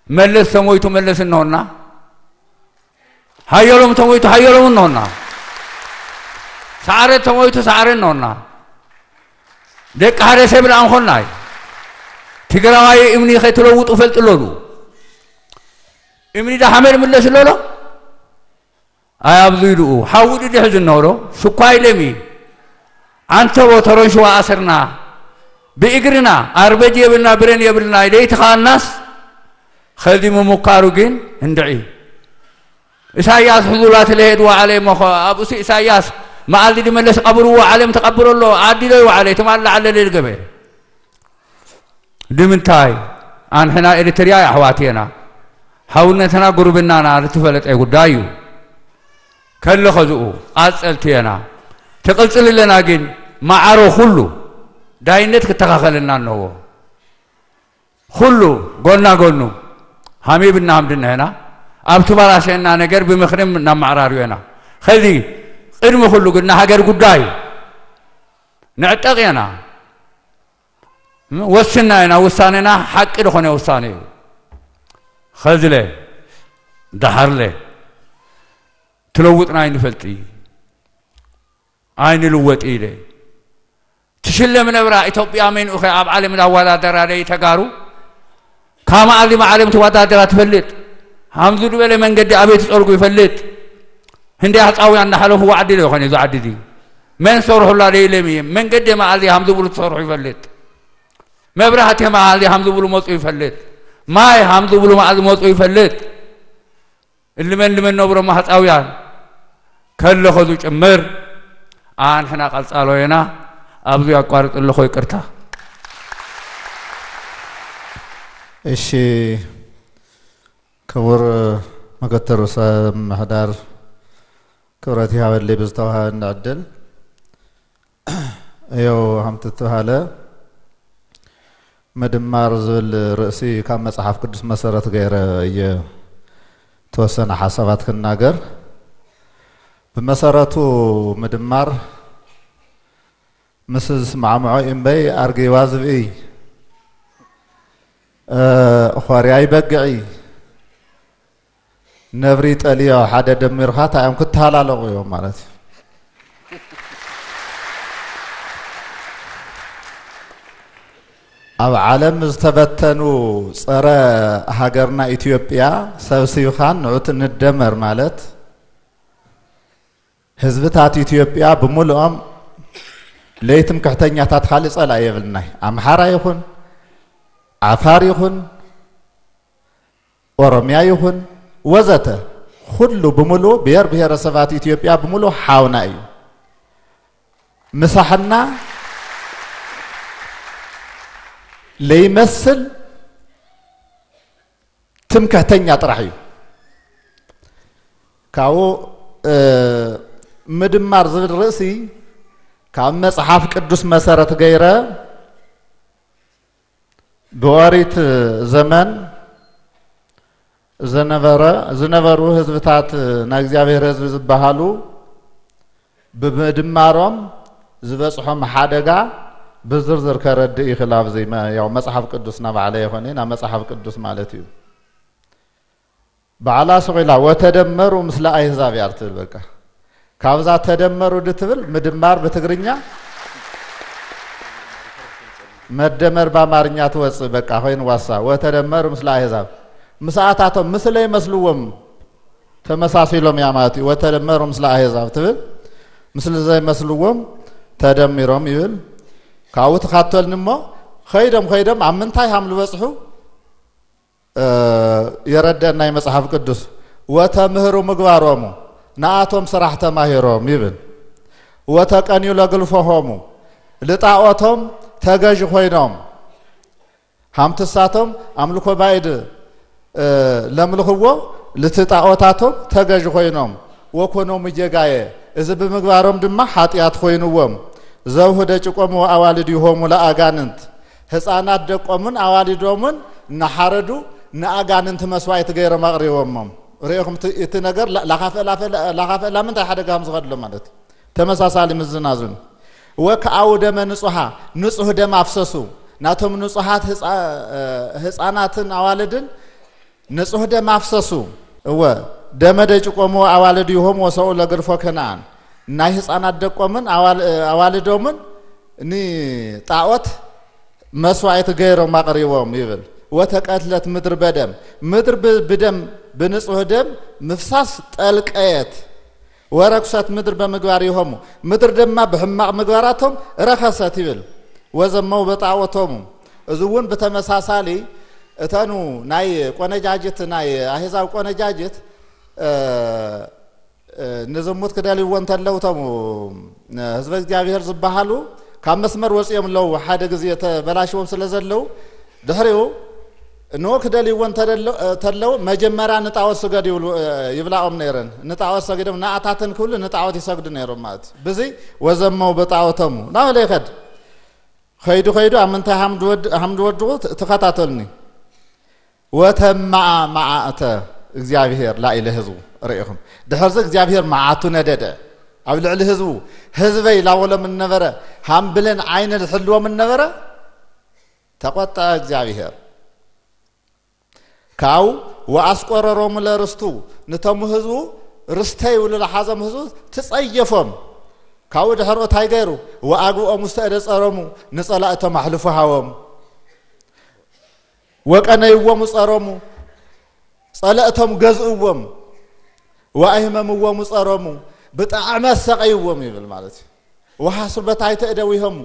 መለስ ተሞይቱ መለስ እንሆና። ሃየሎም ተሞይቱ ሃየሎም እንሆና። ሰዓረ ተሞይቱ ሰዓረ እንሆና። ደቂ ሓደ ሰብ ደኣ እንኾናይ። ትግራዋይ እምኒ ከይትለውጡ ፈልጥለሉ። እምኒ ዳ ሓመድ ምለስ ኣለሎ? ኣይ ኣብዚ ኢሉ ሓዊ ድድሕ ዝነብሮ ሽኳይ ለሚ። ኣንተቦ ተሮን ሽዋ ኣሰርና። ብእግርና ኣርበጅ የብልና፣ ብረን የብልና፣ ለይቲ ከኣልናስ ኸዚ ምምካሩ ግን እንድዒ። ኢሳያስ ሕዙላት ለሄድ ዋዕለ እሞ ኸ ኣብኡሲ ኢሳያስ መኣልዲ ድመለስ ቀብርዎ ዓለም ተቐብሮ ኣሎ። ዓዲ ዶ ይዋዕለ? ትማሊ ላዕለ ለልገበ። ድምንታይ? ኣንሕና ኤሪትርያ ኣሕዋት የና። ሓውነትና ጉርብናና ልትፈለጠ ጉዳይ እዩ። ከለ ኸዝኡ ቃጸልቲ የና። ትቕጽል ኣለና ግን ማዕሮ ኩሉ ዳይነት ክተኻኸለና ኣለዎ። ኩሉ ጎና ጎኑ ሃሚብና ሃምድና የና። ኣብ ትባላሸና ነገር ብምኽርም እናማዕራርዮ የና። ኸዚ ቅድሚ ኩሉ ግን ንሃገር ጉዳይ ንዕጠቕ የና። ወስና የና። ውሳኔና ሓቂ ዝኾነ ውሳኔ እዩ። ኸዝለ ደሓርለ ትለውጥና ኣይንፈልጢ ኣይንልወጥ ኢለ። ትሽለም ነብራ ኢትዮጵያ መንኡኸ ኣብ ዓለም ዳዋዳደራ ደይ ተጋሩ? ካብ መኣልዲ መዓለም ተወዳደራ ትፈልጥ? ሃምዙ ዝበለ መንገዲ ኣበይ ትጸርጉ ይፈልጥ? ህንዲ ኣህጻውያን እናሓለፉ ዋዕዲ ዶ ይኾነ እዚ ዓዲ እዚ? መን ሰርሑላ ደይ ኢለም እየ። መንገዲ መኣልዲ ሃምዙ ብሉ ትሰርሑ ይፈልጥ? መብራህቲ መኣልዲ ሃምዙ ብሉ መጹ ይፈልጥ? ማይ ሃምዙ ብሉ መኣልዲ መጹ ይፈልጥ? እልመን ልመን ነብሮ ማህጻውያን ከለኸ ዝጭምር ኣንሕና ቀጻሎ ኢና። ኣብዚ ኣቋርጥ ኣለኹ፣ ይቅርታ። እሺ፣ ክቡር ምክትል ርእሰ ምምሕዳር፣ ክብረት ይሃበለይ ብዝተዋሃበኒ ዕድል። እየው፣ ሃምቲ እተባሃለ ምድማር ዝብል ርእሲ ካብ መጽሓፍ ቅዱስ መሰረት ገይረ እየ ተወሰነ ሓሳባት ክናገር። ብመሰረቱ ምድማር ምስ ዝስማዕምዖ እምበይ ኣርጊባ ዝብኢ፣ እ፣ ኾርያ ይበግዒ፣ ነብሪ ጠልዮ ሓደ ደሚርካ እንታይ እዮም ክተሃላለቑ እዮም ማለት እዩ። ኣብ ዓለም ዝተበተኑ ጸረ ሃገርና ኢትዮጵያ ሰብሲብኻን ንዑት ንደመር ማለት ህዝብታት ኢትዮጵያ ብምሉኦም ለይትምክሕተኛታት ካልእ ጸላኢ የብልናይ። ኣምሓራ ይኹን፣ ዓፋር ይኹን፣ ኦሮምያ ይኹን፣ ወዘተ፣ ኩሉ ብምሉኡ ብሔር ብሔረሰባት ኢትዮጵያ ብምሉኡ ሓውና እዩ። ምሳሕና ለይመስል ትምክሕተኛ ጥራሕ እዩ። ካብኡ፣ እ፣ ምድማር ዝብል ርእሲ ካብ መጽሓፍ ቅዱስ መሰረት ገይረ ብኦሪት ዘመን ዝነበረ፣ ዝነበሩ ህዝብታት ናይ እግዚኣብሔር ህዝቢ ዝበሃሉ ብምድማሮም ዝበጽሖም ሓደጋ ብዝርዝር ከረድእ ይኽእል። ኣብዚ መ-፣ ያው መጽሓፍ ቅዱስና ባዕለ ይኾነ፣ ናብ መጽሓፍ ቅዱስ ማለት እዩ። ባዕላ ስቕ ኢላ "ወተደመሩ ምስለ ኣህዛብ" እያ ትብል። በቃ፣ ካብዛ "ተደመሩ" ድትብል ምድማር ብትግርኛ "መደመር" ብኣማርኛ ትወጽእ። በቃ፣ ኮይኑ ዋሳ "ወተደመሩ ምስለ ኣህዛብ"፣ ምስኣታቶም፣ ምስለ ይመስልዎም ተመሳሲሎም እያ ማለት እዩ። "ወተደመሩ ምስለ ኣህዛብ" ትብል፣ ምስሊ ዘይመስልዎም ተደሚሮም ይብል። ካብኡ ትኻተልኒ እሞ፣ ኸይዶም ኸይዶም ኣብ ምንታይ ሃም ዝበጽሑ እ፣ የረደን ናይ መጽሓፍ ቅዱስ። "ወተምህሩ ምግባሮሙ፣ ንኣቶም ስራሕ ተማሂሮም" ይብል። "ወተቀንዩ ለግልፎሆሙ፣ ልጣኦቶም ተገዥ ኮይኖም፣ ሃምትሳቶም ኣምልኮ ባይድ፣ እ፣ ለምልኽዎ ልቲ ጣኦታቶም ተገዥ ኮይኖም፣ ወኮኖሙ ጌጋየ፣ እዚ ብምግባሮም ድማ ሓጢኣት ኮይንዎም፣ ዘውህደ ጭቆሙ ኣዋልድ ይሆሙ ለኣጋንንት፣ ህፃናት ደቆምን ኣዋልዶምን እናሓረዱ ንኣጋንንቲ መስዋዕቲ ገይሮም ኣቕሪቦሞም።" ርኢኹም እቲ፣ እቲ ነገር ላ-፣ ላኻፈ-፣ ላፈ-፣ ላኻፈ-፣ ላምንታይ ሓደጋ ከም ዝኸድሎ ማለት እዩ። ተመሳሳሊ ምዝናዙን። "ወከኣው ደመ ንጹሃ፣ ንጹህ ደም ኣፍሰሱ፣ ናቶም ንጹሃት ህፃ-፣ እ፣ ህፃናትን ኣዋልድን ንጹህ ደም ኣፍሰሱ። እወ፣ ደመ ደጭቆሙ ኣዋልድ ይሆም ወሰኡ ለግርፎ ከነኣን፣ ናይ ህፃናት ደቆምን ኣዋል-፣ እ፣ ኣዋልዶምን ንጣዖት መስዋዕቲ ገይሮም ኣቕሪቦም" ይብል። "ወተቀትለት ምድር በደም፣ ምድር ብ-፣ ብደም፣ ብንጹህ ደም ምፍሳስ ጠልቀየት። ወረክሰት ምድር በምግባር ይሆሙ፣ ምድር ድማ ብሕማቕ ምግባራቶም ረኸሰት" ይብል። "ወዘመው በጣዖቶሙ"፣ እዚ እውን ብተመሳሳሊ እተኑ ናይ ቆነጃጅት፣ ናይ ኣህዛብ ቆነጃጅት፣ እ፣ እ፣ ንዝሙት ክደልይዎ እንተለዉ፣ እቶም፣ እ፣ ህዝበ እግዚኣብሔር ዝበሃሉ ካብ መስመር ወፂኦም ኣለዉ። ሓደ ግዜ ተበላሽዎም ስለ ዘለዉ፣ ድሕሪኡ ንኡ ክደልይዎ እንተደሎ-፣ እ፣ ተለዉ፣ መጀመርያ ንጣዖት ስገድ ይብሉ፣ እ፣ ይብላኦም ነይረን። ንጣዖት ሰጊዶም፣ ንኣታተን ክብሉ ንጣዖት ይሰግዱ ነይሮም ማለት እዩ። ብዚ "ወዘመው በጣዖቶሙ" ናበለ ይኸድ። ከይዱ ከይዱ ኣብ ምንታይ ሃም ድወድ-፣ ሃም ድወድቑ ት-፣ ተኸታተሉኒ። "ወተማኣ መዓእተ እግዚኣብሔር ላኢለ ህዝቡ"። ርኢኹም፣ ድሕርዚ እግዚኣብሔር መዓቱ ነደደ ኣብ ልዕሊ ህዝቡ። "ህዝበይ" ላበሎም እነበረ፣ ሃም ብሌን ዓይኒ ዝሕልዎም እነበረ፣ ተቆጠዐ እግዚኣብሔር። ካብኡ "ወኣስቆረሮሙ ለርስቱ"፣ ነቶም ህዝቡ ርስተይ ኢሉ ዝሓዞም ህዝቡ ትጸየፎም። ካብኡ ድሕርኡ እንታይ ገይሩ? "ወኣግብኦም ውስተ እደ ጸሮሙ"፣ ንጸላእቶም ኣሕልፉ ሃቦም። "ወቀነይዎሙ ጸሮሙ"፣ ጸለእቶም ገዝእዎም። "ወኣህመምዎሙ ጸሮሙ"፣ ብጣዕሚ ኣሰቐይዎም ይብል ማለት እዩ። "ወሓስሩ በታሕተ እደዊሆሙ"፣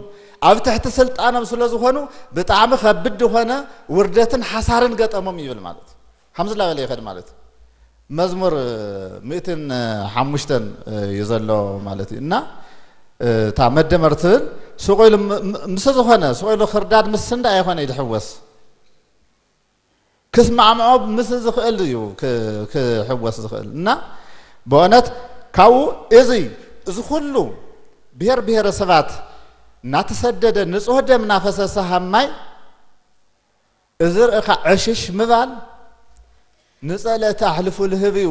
ኣብ ትሕቲ ስልጣኖም ስለ ዝኾኑ ብጣዕሚ ከብድ ዝኾነ ውርደትን ሓሳርን ገጠሞም ይብል ማለት እዩ። ከምዚ ላበለ ይኸድ ማለት እዩ። መዝሙር ሚእትን ሓሙሽተን እዩ ዘሎ ማለት እዩ። እና እታ መደመር ትብል ስቕ ኢሉ ም-፣ ም-፣ ምስ ዝኾነ ስቕ ኢሉ ክርዳድ ምስ እንዳ ኣይኮነ እዩ ዝሕወስ። ክስማዕምዖ ምስ ዝኽእል እዩ ክሕወስ ዝኽእል። እና ብእውነት ካብኡ እዚ እዚ ኩሉ ብሔር ብሔረሰባት እናተሰደደ ንጹህ ደም እናፈሰሰ ሃማይ እዚ ርእኻ ዕሽሽ ምባል ንጸለእቲ ኣሕልፉ ልህብ እዩ።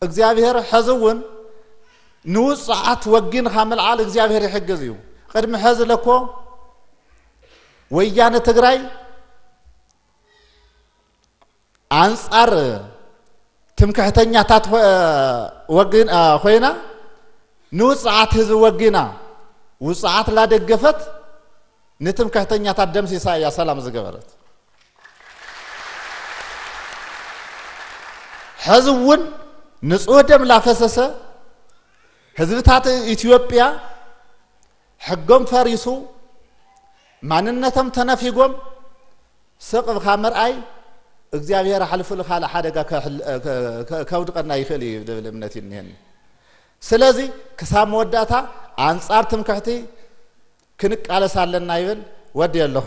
እግዚኣብሔር ሐዚ እውን ንውፅዓት ወጊንኻ ምልዓል እግዚኣብሔር ይሕግዝ እዩ። ቅድሚ ሐዚ ለኮ ወያነ ትግራይ ኣንፃር ትምክሕተኛታት ኮይና ንውፅዓት ህዝቢ ወጊና ውፅዓት ላደገፈት ንትምክሕተኛታት ደምሲሳ እያ ሰላም ዝገበረት። ሐዚ እውን ንጹህ ደም ላፈሰሰ ህዝብታት ኢትዮጵያ ሕጎም ፈሪሱ ማንነቶም ተነፊጎም ስቕ ብኻ ምርኣይ እግዚኣብሔር ኣሕልፉ ልኻልእ ሓደጋ ከውድቐና ይኽእል እዩ ዝብል እምነት እኒሀኒ። ስለዚ ክሳብ መወዳእታ ኣንጻር ትምክሕቲ ክንቃለስ ኣለና ይብል። ወዲ ኣለኹ።